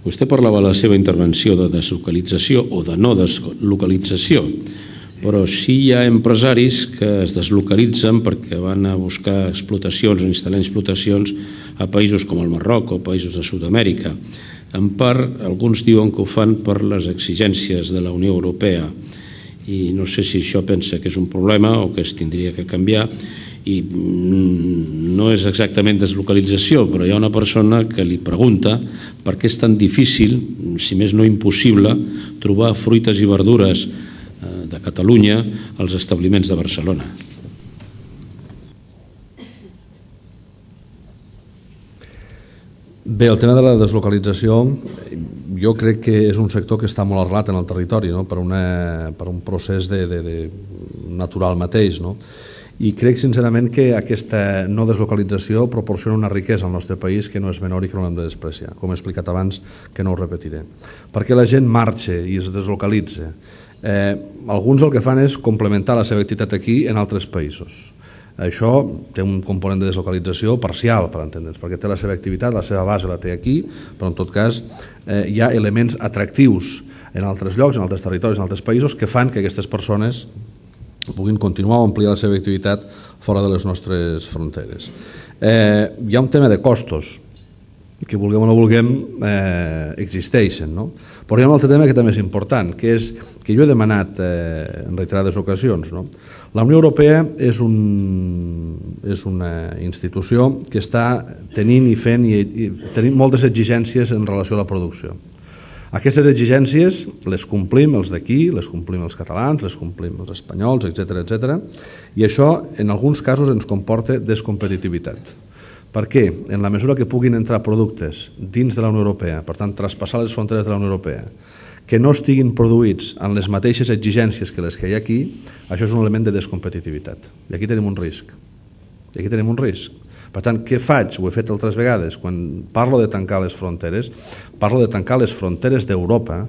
Vostè parlava a la seva intervenció de deslocalització o de no deslocalització, però sí hi ha empresaris que es deslocalitzen perquè van a buscar explotacions o instal·lar explotacions a països com el Marroc o països de Sud-amèrica. En part, alguns diuen que ho fan per les exigències de la Unió Europea i no sé si això pensa que és un problema o que es tindria que canviar i no és exactament deslocalització, però hi ha una persona que li pregunta per què és tan difícil, si més no impossible, trobar fruites i verdures de Catalunya als establiments de Barcelona. Bé, el tema de la deslocalització jo crec que és un sector que està molt arrelat en el territori per un procés natural mateix. I crec sincerament que aquesta no deslocalització proporciona una riquesa al nostre país que no és menor i que no l'hem de despreciar, com he explicat abans, que no ho repetiré. Perquè la gent marxa i es deslocalitza. Alguns el que fan és complementar la seva activitat aquí en altres països. Això té un component de deslocalització parcial, per entendre'ns, perquè té la seva activitat, la seva base la té aquí, però en tot cas hi ha elements atractius en altres llocs, en altres territoris, en altres països, que fan que aquestes persones puguin continuar o ampliar la seva activitat fora de les nostres fronteres. Hi ha un tema de costos, que vulguem o no vulguem existeixen, Però hi ha un altre tema que també és important, que és que jo he demanat en reiterades ocasions. La Unió Europea és una institució que està tenint i fent moltes exigències en relació a la producció. Aquestes exigències les complim els d'aquí, les complim els catalans, les complim els espanyols, etc. I això en alguns casos ens comporta descompetitivitat. Per què? En la mesura que puguin entrar productes dins de la Unió Europea, per tant traspassar les fronteres de la Unió Europea, que no estiguin produïts amb les mateixes exigències que les que hi ha aquí, això és un element de descompetitivitat. I aquí tenim un risc. Per tant, què faig? Ho he fet altres vegades. Quan parlo de tancar les fronteres, parlo de tancar les fronteres d'Europa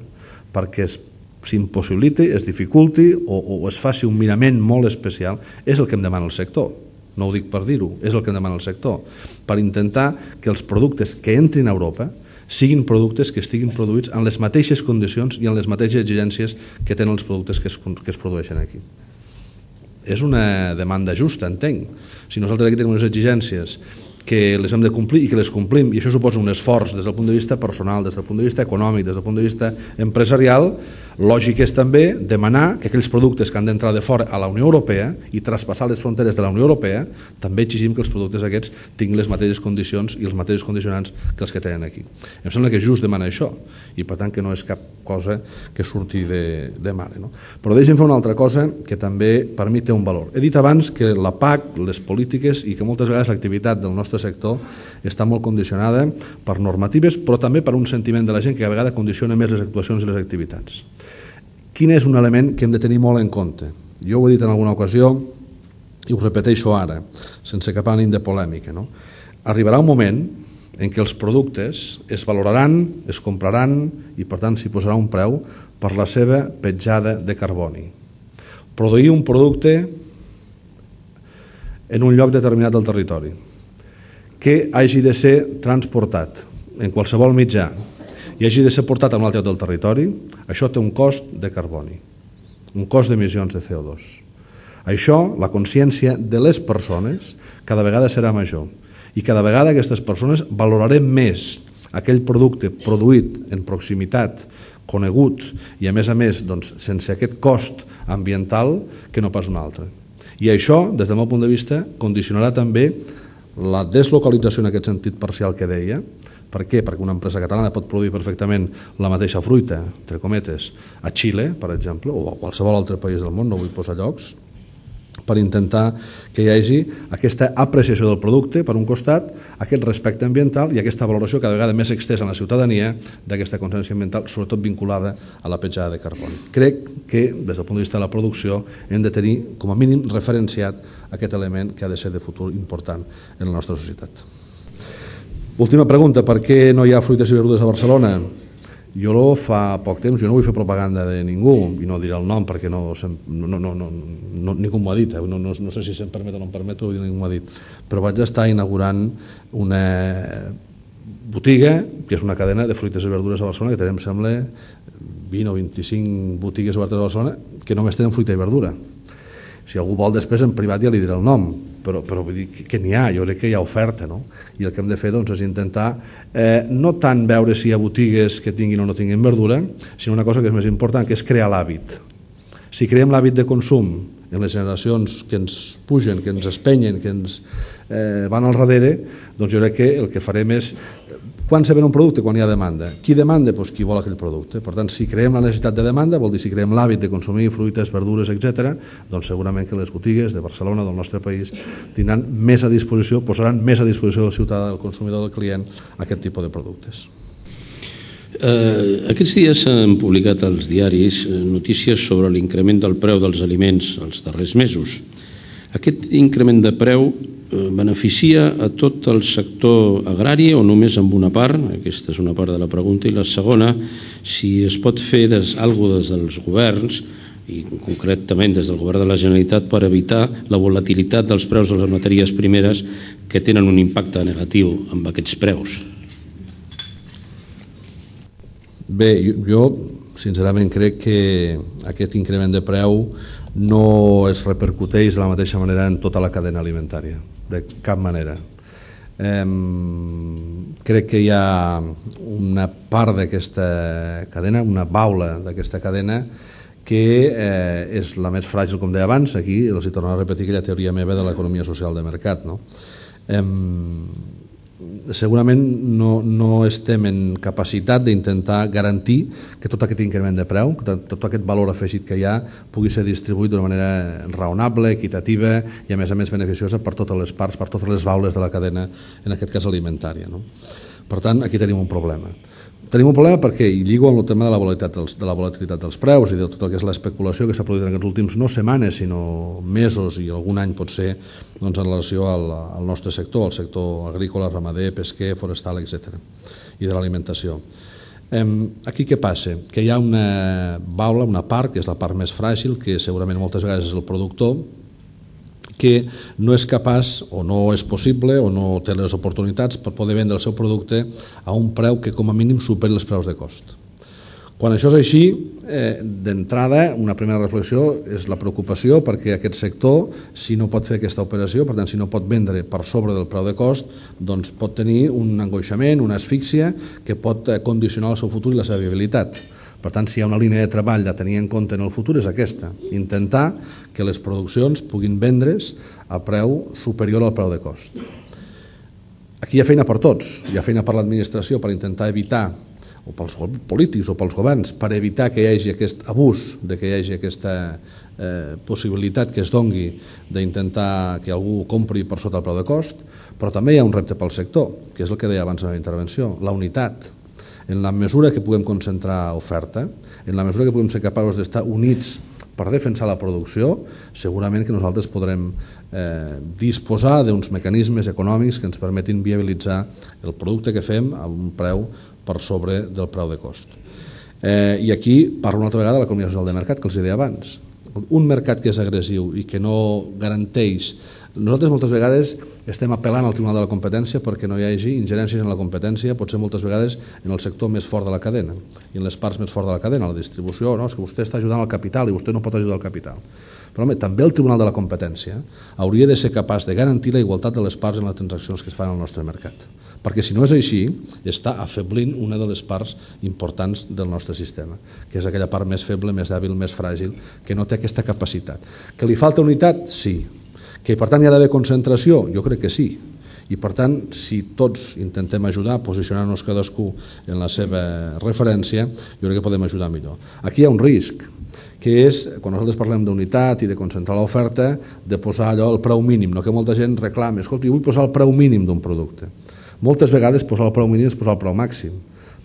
perquè s'impossibiliti, es dificulti o es faci un mirament molt especial. És el que em demana el sector. No ho dic per dir-ho, és el que em demana el sector. Per intentar que els productes que entrin a Europa siguin productes que estiguin produïts en les mateixes condicions i en les mateixes exigències que tenen els productes que es produeixen aquí. És una demanda justa, entenc. Si nosaltres aquí tenim unes exigències que les hem de complir i que les complim, i això suposa un esforç des del punt de vista personal, des del punt de vista econòmic, des del punt de vista empresarial, lògic és també demanar que aquells productes que han d'entrar de fora a la Unió Europea i traspassar les fronteres de la Unió Europea, també exigim que els productes aquests tinguin les mateixes condicions i els mateixos condicionants que els que tenen aquí. Em sembla que just demana això, i per tant que no és cap cosa que surti de mare. Però deixem fer una altra cosa que també per mi té un valor. He dit abans que la PAC, les polítiques i que moltes vegades l'activitat del nostre sector està molt condicionada per normatives, però també per un sentiment de la gent que a vegades condiciona més les actuacions i les activitats. Quin és un element que hem de tenir molt en compte? Jo ho he dit en alguna ocasió i ho repeteixo ara, sense cap ànim de polèmica. Arribarà un moment en què els productes es valoraran, es compraran i per tant s'hi posarà un preu per la seva petjada de carboni. Produir un producte en un lloc determinat del territori que hagi de ser transportat en qualsevol mitjà i hagi de ser portat a un altre lloc del territori, això té un cost de carboni, un cost d'emissions de CO2. Això, la consciència de les persones, cada vegada serà major i cada vegada aquestes persones valorarem més aquell producte produït en proximitat, conegut i a més sense aquest cost ambiental que no pas un altre. I això, des del meu punt de vista, condicionarà també la deslocalització en aquest sentit parcial que deia. Per què? Perquè una empresa catalana pot produir perfectament la mateixa fruita, entre cometes, a Xile, per exemple, o a qualsevol altre país del món, no vull posar llocs, per intentar que hi hagi aquesta apreciació del producte, per un costat, aquest respecte ambiental i aquesta valoració cada vegada més extesa en la ciutadania d'aquesta consciència ambiental, sobretot vinculada a la petjada de carboni. Crec que, des del punt de vista de la producció, hem de tenir, com a mínim, referenciat aquest element que ha de ser de futur important en la nostra societat. Última pregunta, per què no hi ha fruites i verdures a Barcelona? Jo fa poc temps, jo no vull fer propaganda de ningú i no diré el nom perquè ningú m'ho ha dit, no sé si se'm permet o no em permet, però ningú m'ho ha dit, però vaig estar inaugurant una botiga que és una cadena de fruites i verdures a Barcelona que tenim, em sembla, 20 o 25 botigues obertes a Barcelona que només tenen fruita i verdura. Si algú vol després en privat ja li diré el nom, però vull dir que n'hi ha, jo crec que hi ha oferta, no? I el que hem de fer és intentar no tant veure si hi ha botigues que tinguin o no tinguin verdura, sinó una cosa que és més important, que és crear l'hàbit. Si creem l'hàbit de consum en les generacions que ens pugen, que ens espenyen, que ens van al darrere, doncs jo crec que el que farem és quan se ven un producte? Quan hi ha demanda. Qui demanda? Doncs qui vol aquell producte. Per tant, si creem la necessitat de demanda, vol dir si creem l'hàbit de consumir fruites, verdures, etc., doncs segurament que les botigues de Barcelona, del nostre país, tindran més a disposició, posaran més a disposició del ciutadà, del consumidor, del client, aquest tipus de productes. Aquests dies s'han publicat als diaris notícies sobre l'increment del preu dels aliments els darrers mesos. Aquest increment de preu beneficia a tot el sector agrari o només en una part? Aquesta és una part de la pregunta. I la segona, si es pot fer alguna cosa des dels governs, i concretament des del govern de la Generalitat, per evitar la volatilitat dels preus de les matèries primeres que tenen un impacte negatiu amb aquests preus. Bé, jo sincerament crec que aquest increment de preu no es repercuteix de la mateixa manera en tota la cadena alimentària, de cap manera. Crec que hi ha una part d'aquesta cadena, una baula d'aquesta cadena, que és la més fràgil, com deia abans. Aquí els hi torno a repetir aquella teoria meva de l'economia social de mercat. Segurament no estem en capacitat d'intentar garantir que tot aquest increment de preu, tot aquest valor afegit que hi ha, pugui ser distribuït d'una manera raonable, equitativa i a més beneficiosa per totes les parts, per totes les baules de la cadena, en aquest cas alimentària. Per tant, aquí tenim un problema. Tenim un problema perquè, i lligo amb el tema de la volatilitat dels preus i de tot el que és l'especulació que s'ha produït en aquests últims no setmanes, sinó mesos i algun any potser, en relació al nostre sector, al sector agrícola, ramader, pesquer, forestal, etc. i de l'alimentació. Aquí què passa? Que hi ha una baula, una part, que és la part més fràgil, que segurament moltes vegades és el productor, que no és capaç o no és possible o no té les oportunitats per poder vendre el seu producte a un preu que com a mínim superi els preus de cost. Quan això és així, d'entrada, una primera reflexió és la preocupació perquè aquest sector, si no pot fer aquesta operació, per tant, si no pot vendre per sobre del preu de cost, doncs pot tenir un angoixament, una asfíxia que pot condicionar el seu futur i la seva viabilitat. Per tant, si hi ha una línia de treball a tenir en compte en el futur és aquesta, intentar que les produccions puguin vendre's a preu superior al preu de cost. Aquí hi ha feina per tots, hi ha feina per l'administració per intentar evitar, o pels polítics o pels governs, per evitar que hi hagi aquest abús, que hi hagi aquesta possibilitat que es dongui d'intentar que algú compri per sota el preu de cost, però també hi ha un repte pel sector, que és el que deia abans en la intervenció, la unitat. En la mesura que puguem concentrar oferta, en la mesura que puguem ser capaços d'estar units per defensar la producció, segurament que nosaltres podrem disposar d'uns mecanismes econòmics que ens permetin viabilitzar el producte que fem a un preu per sobre del preu de cost. I aquí parlo una altra vegada de l'economia social de mercat que els deia abans. Un mercat que és agressiu i que no garanteix. Nosaltres moltes vegades estem apel·lant al Tribunal de la Competència perquè no hi hagi ingerències en la competència, potser moltes vegades en el sector més fort de la cadena i en les parts més forts de la cadena, la distribució, no? És que vostè està ajudant al capital i vostè no pot ajudar al capital. Però home, també el Tribunal de la Competència hauria de ser capaç de garantir la igualtat de les parts en les transaccions que es fan al nostre mercat. Perquè si no és així, està afeblint una de les parts importants del nostre sistema, que és aquella part més feble, més dèbil, més fràgil, que no té aquesta capacitat. Que li falta unitat? Sí. Que per tant hi ha d'haver concentració? Jo crec que sí. I per tant, si tots intentem ajudar, posicionar-nos cadascú en la seva referència, jo crec que podem ajudar millor. Aquí hi ha un risc, que és, quan nosaltres parlem d'unitat i de concentrar l'oferta, de posar allò al preu mínim, no que molta gent reclami, escolta, jo vull posar el preu mínim d'un producte. Moltes vegades posar el preu mínim és posar el preu màxim,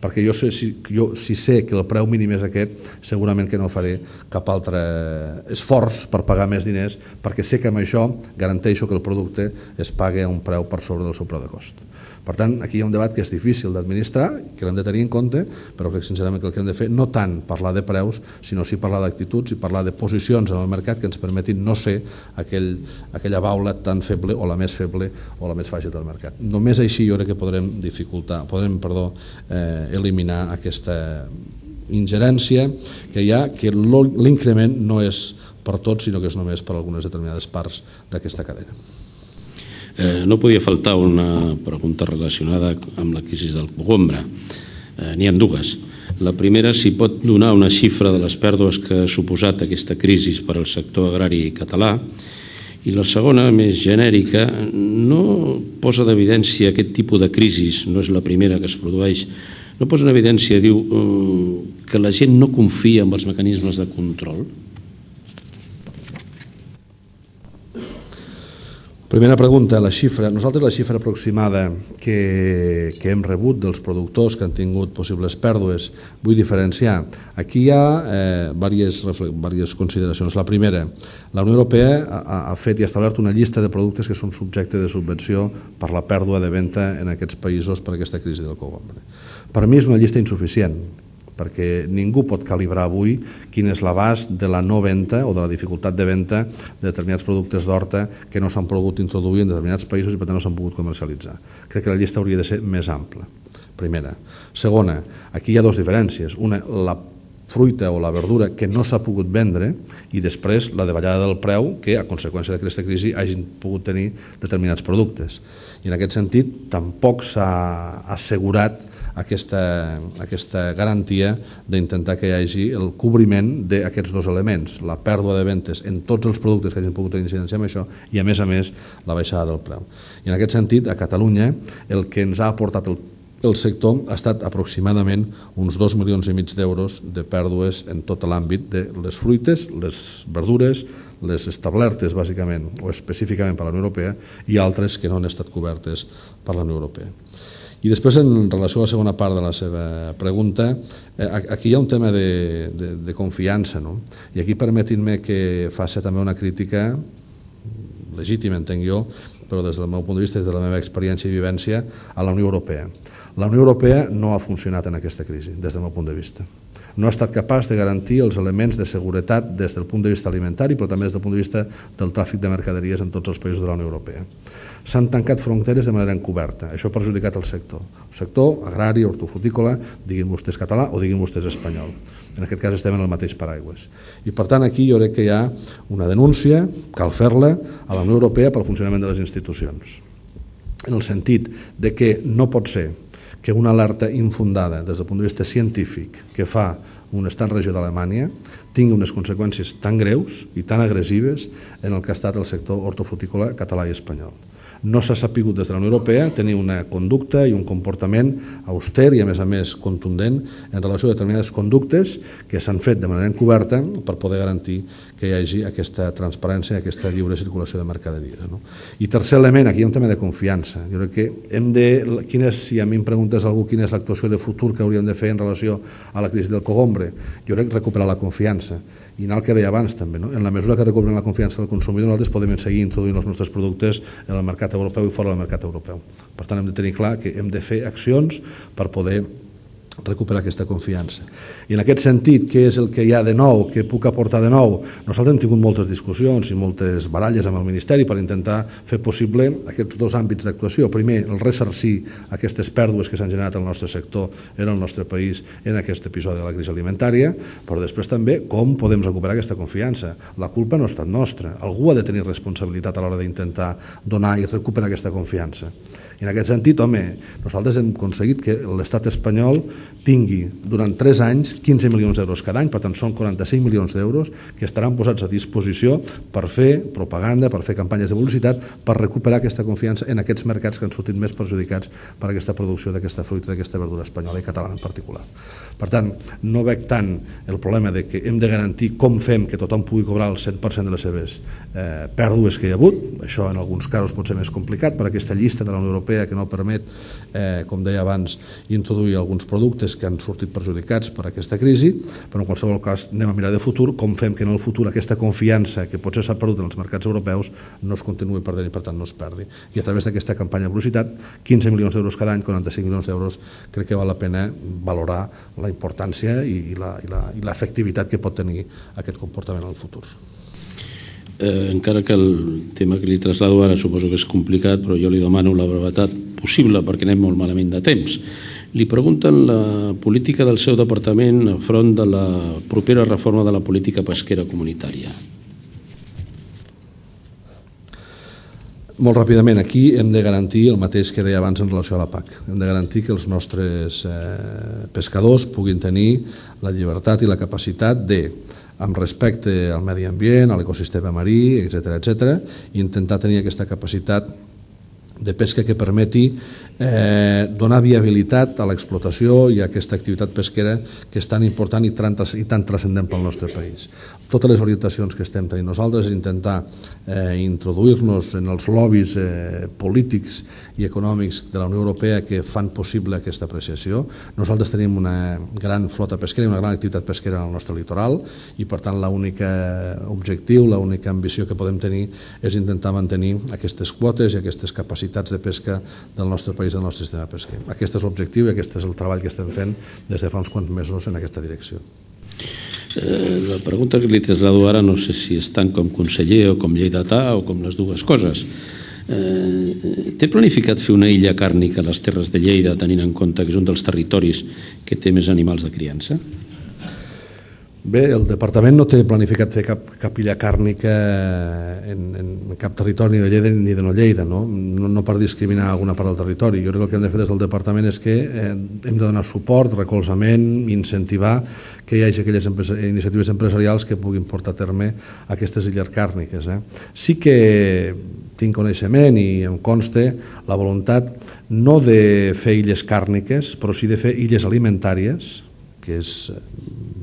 perquè si sé que el preu mínim és aquest, segurament que no faré cap altre esforç per pagar més diners, perquè sé que amb això garanteixo que el producte es pagui a un preu per sobre del seu preu de cost. Per tant, aquí hi ha un debat que és difícil d'administrar, que l'hem de tenir en compte, però crec sincerament que el que hem de fer no tant parlar de preus, sinó sí parlar d'actituds i parlar de posicions en el mercat que ens permetin no ser aquella baula tan feble o la més feble o la més fràgil del mercat. Només així jo crec que podrem eliminar aquesta ingerència que hi ha, que l'increment no és per tots, sinó que és només per algunes determinades parts d'aquesta cadena. No podia faltar una pregunta relacionada amb la crisi del cogombre. N'hi ha dues. La primera, si pot donar una xifra de les pèrdues que ha suposat aquesta crisi per al sector agrari català. I la segona, més genèrica, no posa d'evidència aquest tipus de crisi, no és la primera que es produeix, no posa en evidència, diu, que la gent no confia en els mecanismes de control? Primera pregunta, la xifra. Nosaltres la xifra aproximada que hem rebut dels productors que han tingut possibles pèrdues, vull diferenciar. Aquí hi ha diverses consideracions. La primera, la Unió Europea ha fet i ha establert una llista de productes que són subjecte de subvenció per la pèrdua de venda en aquests països per aquesta crisi del cogombre. Per mi és una llista insuficient, perquè ningú pot calibrar avui quin és l'abast de la no venda o de la dificultat de venda de determinats productes d'horta que no s'han pogut introduir en determinats països i per tant no s'han pogut comercialitzar. Crec que la llista hauria de ser més ampla, primera. Segona, aquí hi ha dues diferències. Una, la fruita o la verdura que no s'ha pogut vendre i després la davallada del preu que a conseqüència d'aquesta crisi hagin pogut tenir determinats productes. I en aquest sentit tampoc s'ha assegurat aquesta garantia d'intentar que hi hagi el cobriment d'aquests dos elements, la pèrdua de ventes en tots els productes que hagin pogut tenir incidència amb això i a més la baixada del preu. I en aquest sentit a Catalunya el que ens ha aportat el sector ha estat aproximadament uns 2,5 milions d'euros de pèrdues en tot l'àmbit de les fruites, les verdures, les establertes bàsicament o específicament per la Unió Europea i altres que no han estat cobertes per la Unió Europea. I després, en relació a la segona part de la seva pregunta, aquí hi ha un tema de confiança, no? I aquí permetin-me que faci també una crítica legítima, entenc jo, però des del meu punt de vista, des de la meva experiència i vivència, a la Unió Europea. La Unió Europea no ha funcionat en aquesta crisi, des del meu punt de vista. No ha estat capaç de garantir els elements de seguretat des del punt de vista alimentari, però també des del punt de vista del tràfic de mercaderies en tots els països de la Unió Europea. S'han tancat fronteres de manera encoberta. Això ha perjudicat el sector agrari, hortofrutícola, diguin vostès català o diguin vostès espanyol. En aquest cas estem en el mateix paraigües. I per tant aquí jo crec que hi ha una denúncia, cal fer-la, a la Unió Europea pel funcionament de les institucions. En el sentit de que no pot ser que una alerta infundada des del punt de vista científic que fa un estat regió d'Alemanya tingui unes conseqüències tan greus i tan agressives en el que ha estat el sector hortofrutícola català i espanyol. No s'ha sapigut des de la Unió Europea tenir una conducta i un comportament auster i a més contundent en relació a determinades conductes que s'han fet de manera encoberta per poder garantir que hi hagi aquesta transparència i aquesta lliure circulació de mercaderies. I tercer element, aquí hi ha un tema de confiança. Jo crec que si a mi em preguntes algú quina és l'actuació de futur que hauríem de fer en relació a la crisi del cogombre, jo crec recuperar la confiança. I anar al que deia abans també, en la mesura que recuperem la confiança del consumidor, nosaltres podem seguir introduint els nostres productes en el mercat europeu i fora del mercat europeu. Per tant, hem de tenir clar que hem de fer accions per poder recuperar aquesta confiança. I en aquest sentit, què és el que hi ha de nou, què puc aportar de nou? Nosaltres hem tingut moltes discussions i moltes baralles amb el Ministeri per intentar fer possible aquests dos àmbits d'actuació. Primer, el ressarcir aquestes pèrdues que s'han generat al nostre sector en el nostre país en aquest episodi de la crisi alimentària, però després també com podem recuperar aquesta confiança. La culpa no ha estat nostra. Algú ha de tenir responsabilitat a l'hora d'intentar donar i recuperar aquesta confiança. I en aquest sentit, nosaltres hem aconseguit que l'estat espanyol tingui durant 3 anys 15 milions d'euros cada any, per tant són 45 milions d'euros que estaran posats a disposició per fer propaganda, per fer campanyes de publicitat, per recuperar aquesta confiança en aquests mercats que han sortit més perjudicats per aquesta producció d'aquesta fruita, d'aquesta verdura espanyola i catalana en particular. Per tant, no veig tant el problema de que hem de garantir com fem que tothom pugui cobrar el 100% de les seves pèrdues que hi ha hagut. Això en alguns casos pot ser més complicat per aquesta llista de la Unió Europea que no permet, com deia abans, introduir alguns productes que han sortit perjudicats per aquesta crisi, però en qualsevol cas anem a mirar de futur com fem que en el futur aquesta confiança que potser s'ha perdut en els mercats europeus no es continuï perdent i per tant no es perdi. I a través d'aquesta campanya de publicitat, 15 milions d'euros cada any, 45 milions d'euros, crec que val la pena valorar la importància i l'efectivitat que pot tenir aquest comportament en el futur. Encara que el tema que li traslado ara suposo que és complicat, però jo li demano la brevetat possible perquè anem molt malament de temps. Li pregunten la política del seu departament enfront de la propera reforma de la política pesquera comunitària. Molt ràpidament, aquí hem de garantir el mateix que deia abans en relació a la PAC. Hem de garantir que els nostres pescadors puguin tenir la llibertat i la capacitat de, amb respecte al medi ambient, a l'ecosistema marí, etc., i intentar tenir aquesta capacitat de pesca que permeti donar viabilitat a l'explotació i a aquesta activitat pesquera que és tan important i tan transcendent pel nostre país. Totes les orientacions que estem tenint nosaltres és intentar introduir-nos en els lobbies polítics i econòmics de la Unió Europea que fan possible aquesta apreciació. Nosaltres tenim una gran flota pesquera i una gran activitat pesquera en el nostre litoral i per tant l'únic objectiu, l'única ambició que podem tenir és intentar mantenir aquestes quotes i aquestes capacitats de pesca del nostre país, del nostre sistema pesquer. Aquest és l'objectiu i aquest és el treball que estem fent des de fa uns quants mesos en aquesta direcció. La pregunta que li traslado ara no sé si és tant com conseller o com lleidatà o com les dues coses. Té planificat fer una illa càrnica a les Terres de Lleida tenint en compte que és un dels territoris que té més animals de criança? Bé, el departament no té planificat fer cap illa càrnica en cap territori ni de Lleida ni de no Lleida, no per discriminar alguna part del territori. Jo crec que el que hem de fer des del departament és que hem de donar suport, recolzament, incentivar que hi hagi aquelles iniciatives empresarials que puguin portar a terme aquestes illes càrniques. Sí que tinc coneixement i em consta la voluntat no de fer illes càrniques, però sí de fer illes alimentàries, que és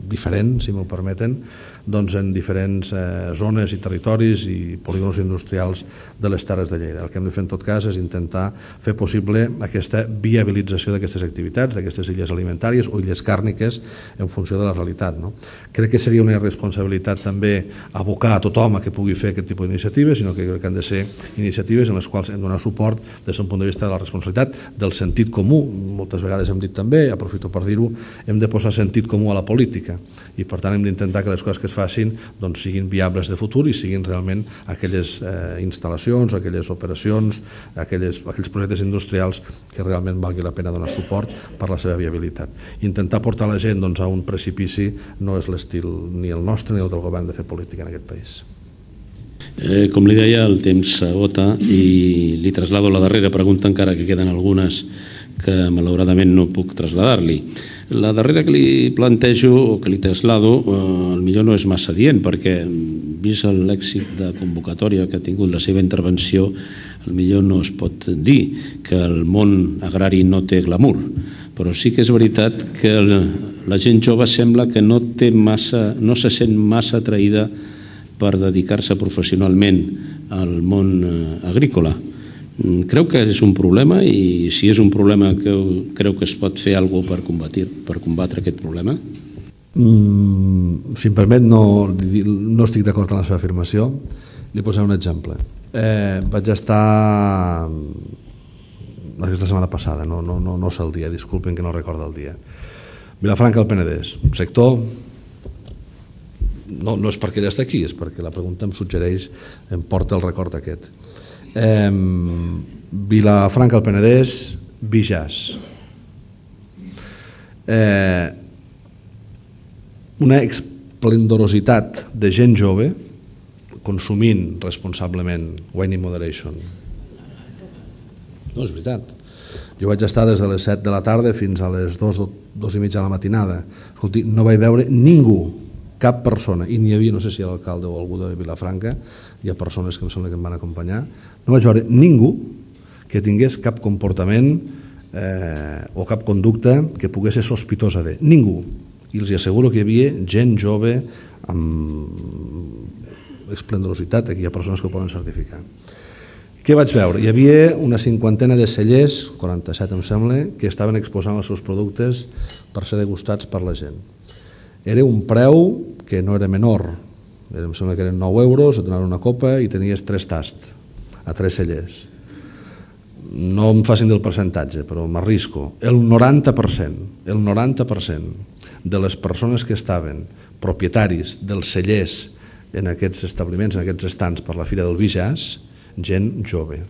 diferent, si m'ho permeten, doncs en diferents zones i territoris i polígons industrials de les Terres de Lleida. El que hem de fer en tot cas és intentar fer possible aquesta viabilització d'aquestes activitats, d'aquestes illes alimentàries o illes càrniques en funció de la realitat. Crec que seria una irresponsabilitat també abocar a tothom a que pugui fer aquest tipus d'iniciatives, sinó que crec que han de ser iniciatives en les quals hem de donar suport des d'un punt de vista de la responsabilitat, del sentit comú. Moltes vegades hem dit també, aprofito per dir-ho, hem de posar sentit comú a la política i per tant hem d'intentar que les coses que es facin siguin viables de futur i siguin realment aquelles instal·lacions, aquelles operacions, aquells projectes industrials que realment valgui la pena donar suport per la seva viabilitat. Intentar portar la gent a un precipici no és l'estil ni el nostre ni el del govern de fer política en aquest país. Com li deia, el temps s'agota i li traslado la darrera pregunta, encara que queden algunes que malauradament no puc traslladar-li. La darrera que li plantejo o que li traslado potser no és massa dient, perquè vist l'èxit de convocatòria que ha tingut la seva intervenció, potser no es pot dir que el món agrari no té glamour, però sí que és veritat que la gent jove sembla que no se sent massa atraïda per dedicar-se professionalment al món agrícola. Creu que és un problema i si és un problema creu que es pot fer alguna cosa per combatre aquest problema? Si em permet, no estic d'acord amb la seva afirmació. Li posaré un exemple. Vaig estar aquesta setmana passada, no sé el dia, disculpen que no recordo el dia. Vilafranca del Penedès, un sector... No és perquè ella està aquí, és perquè la pregunta em suggereix, em porta el record aquest. Vilafranca del Penedès, Bijàs. Una esplendorositat de gent jove consumint responsablement, wine in moderation. No, és veritat. Jo vaig estar des de les 7 de la tarda fins a les 2:30 de la matinada. Escolti, no vaig veure ningú, cap persona, i n'hi havia, no sé si l'alcalde o algú de Vilafranca, hi ha persones que em sembla que em van acompanyar, no vaig veure ningú que tingués cap comportament o cap conducta que pogués ser sospitosa de ningú. I els asseguro que hi havia gent jove amb esplendorositat, aquí hi ha persones que ho poden certificar. Què vaig veure? Hi havia una 50 de cellers, 47 em sembla, que estaven exposant els seus productes per ser degustats per la gent. Era un preu que no era menor, em sembla que eren 9 euros, et donaven una copa i tenies 3 tasts a 3 cellers. No em facin del percentatge, però m'arrisco. El 90% de les persones que estaven propietaris dels cellers en aquests establiments, en aquests estants per la Fira del Bijàs, gent jove,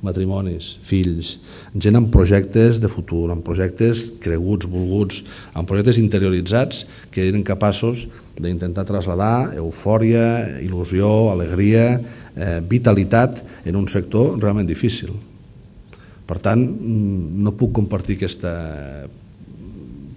matrimonis, fills, gent amb projectes de futur, amb projectes creguts, volguts, amb projectes interioritzats que eren capaços d'intentar traslladar eufòria, il·lusió, alegria, vitalitat en un sector realment difícil. Per tant, no puc compartir aquest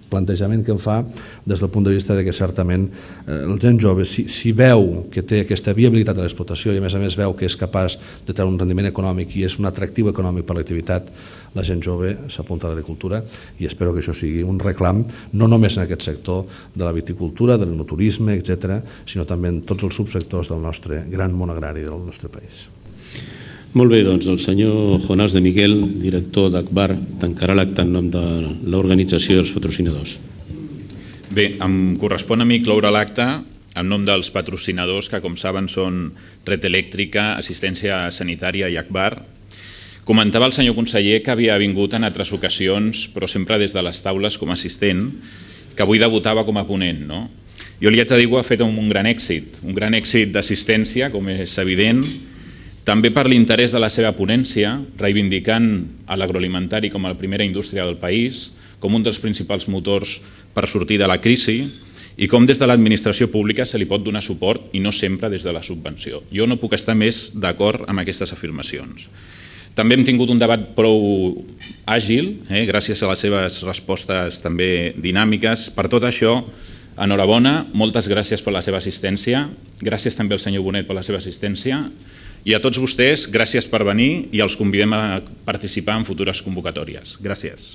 plantejament que em fa des del punt de vista que certament el gent jove, si veu que té aquesta viabilitat de l'explotació i a més veu que és capaç de treure un rendiment econòmic i és un atractiu econòmic per l'activitat, la gent jove s'apunta a l'agricultura i espero que això sigui un reclam no només en aquest sector de la viticultura, del turisme, etc., sinó també en tots els subsectors del nostre gran món agrari del nostre país. Molt bé, doncs el senyor Jonàs de Miguel, director d'ACBAR, tancarà l'acte en nom de l'organització dels patrocinadors. Bé, em correspon a mi cloure l'acte en nom dels patrocinadors que, com saben, són Red Elèctrica, Assistència Sanitària i ACBAR. Comentava el senyor conseller que havia vingut en altres ocasions, però sempre des de les taules com a assistent, que avui debutava com a ponent, no? Jo li haig de dir que ho ha fet amb un gran èxit d'assistència, com és evident, també per l'interès de la seva ponència, reivindicant l'agroalimentari com a la primera indústria del país, com un dels principals motors per sortir de la crisi i com des de l'administració pública se li pot donar suport i no sempre des de la subvenció. Jo no puc estar més d'acord amb aquestes afirmacions. També hem tingut un debat prou àgil, gràcies a les seves respostes també dinàmiques. Per tot això, enhorabona, moltes gràcies per la seva assistència, gràcies també al senyor Bonet per la seva assistència i a tots vostès, gràcies per venir i els convidem a participar en futures convocatòries. Gràcies.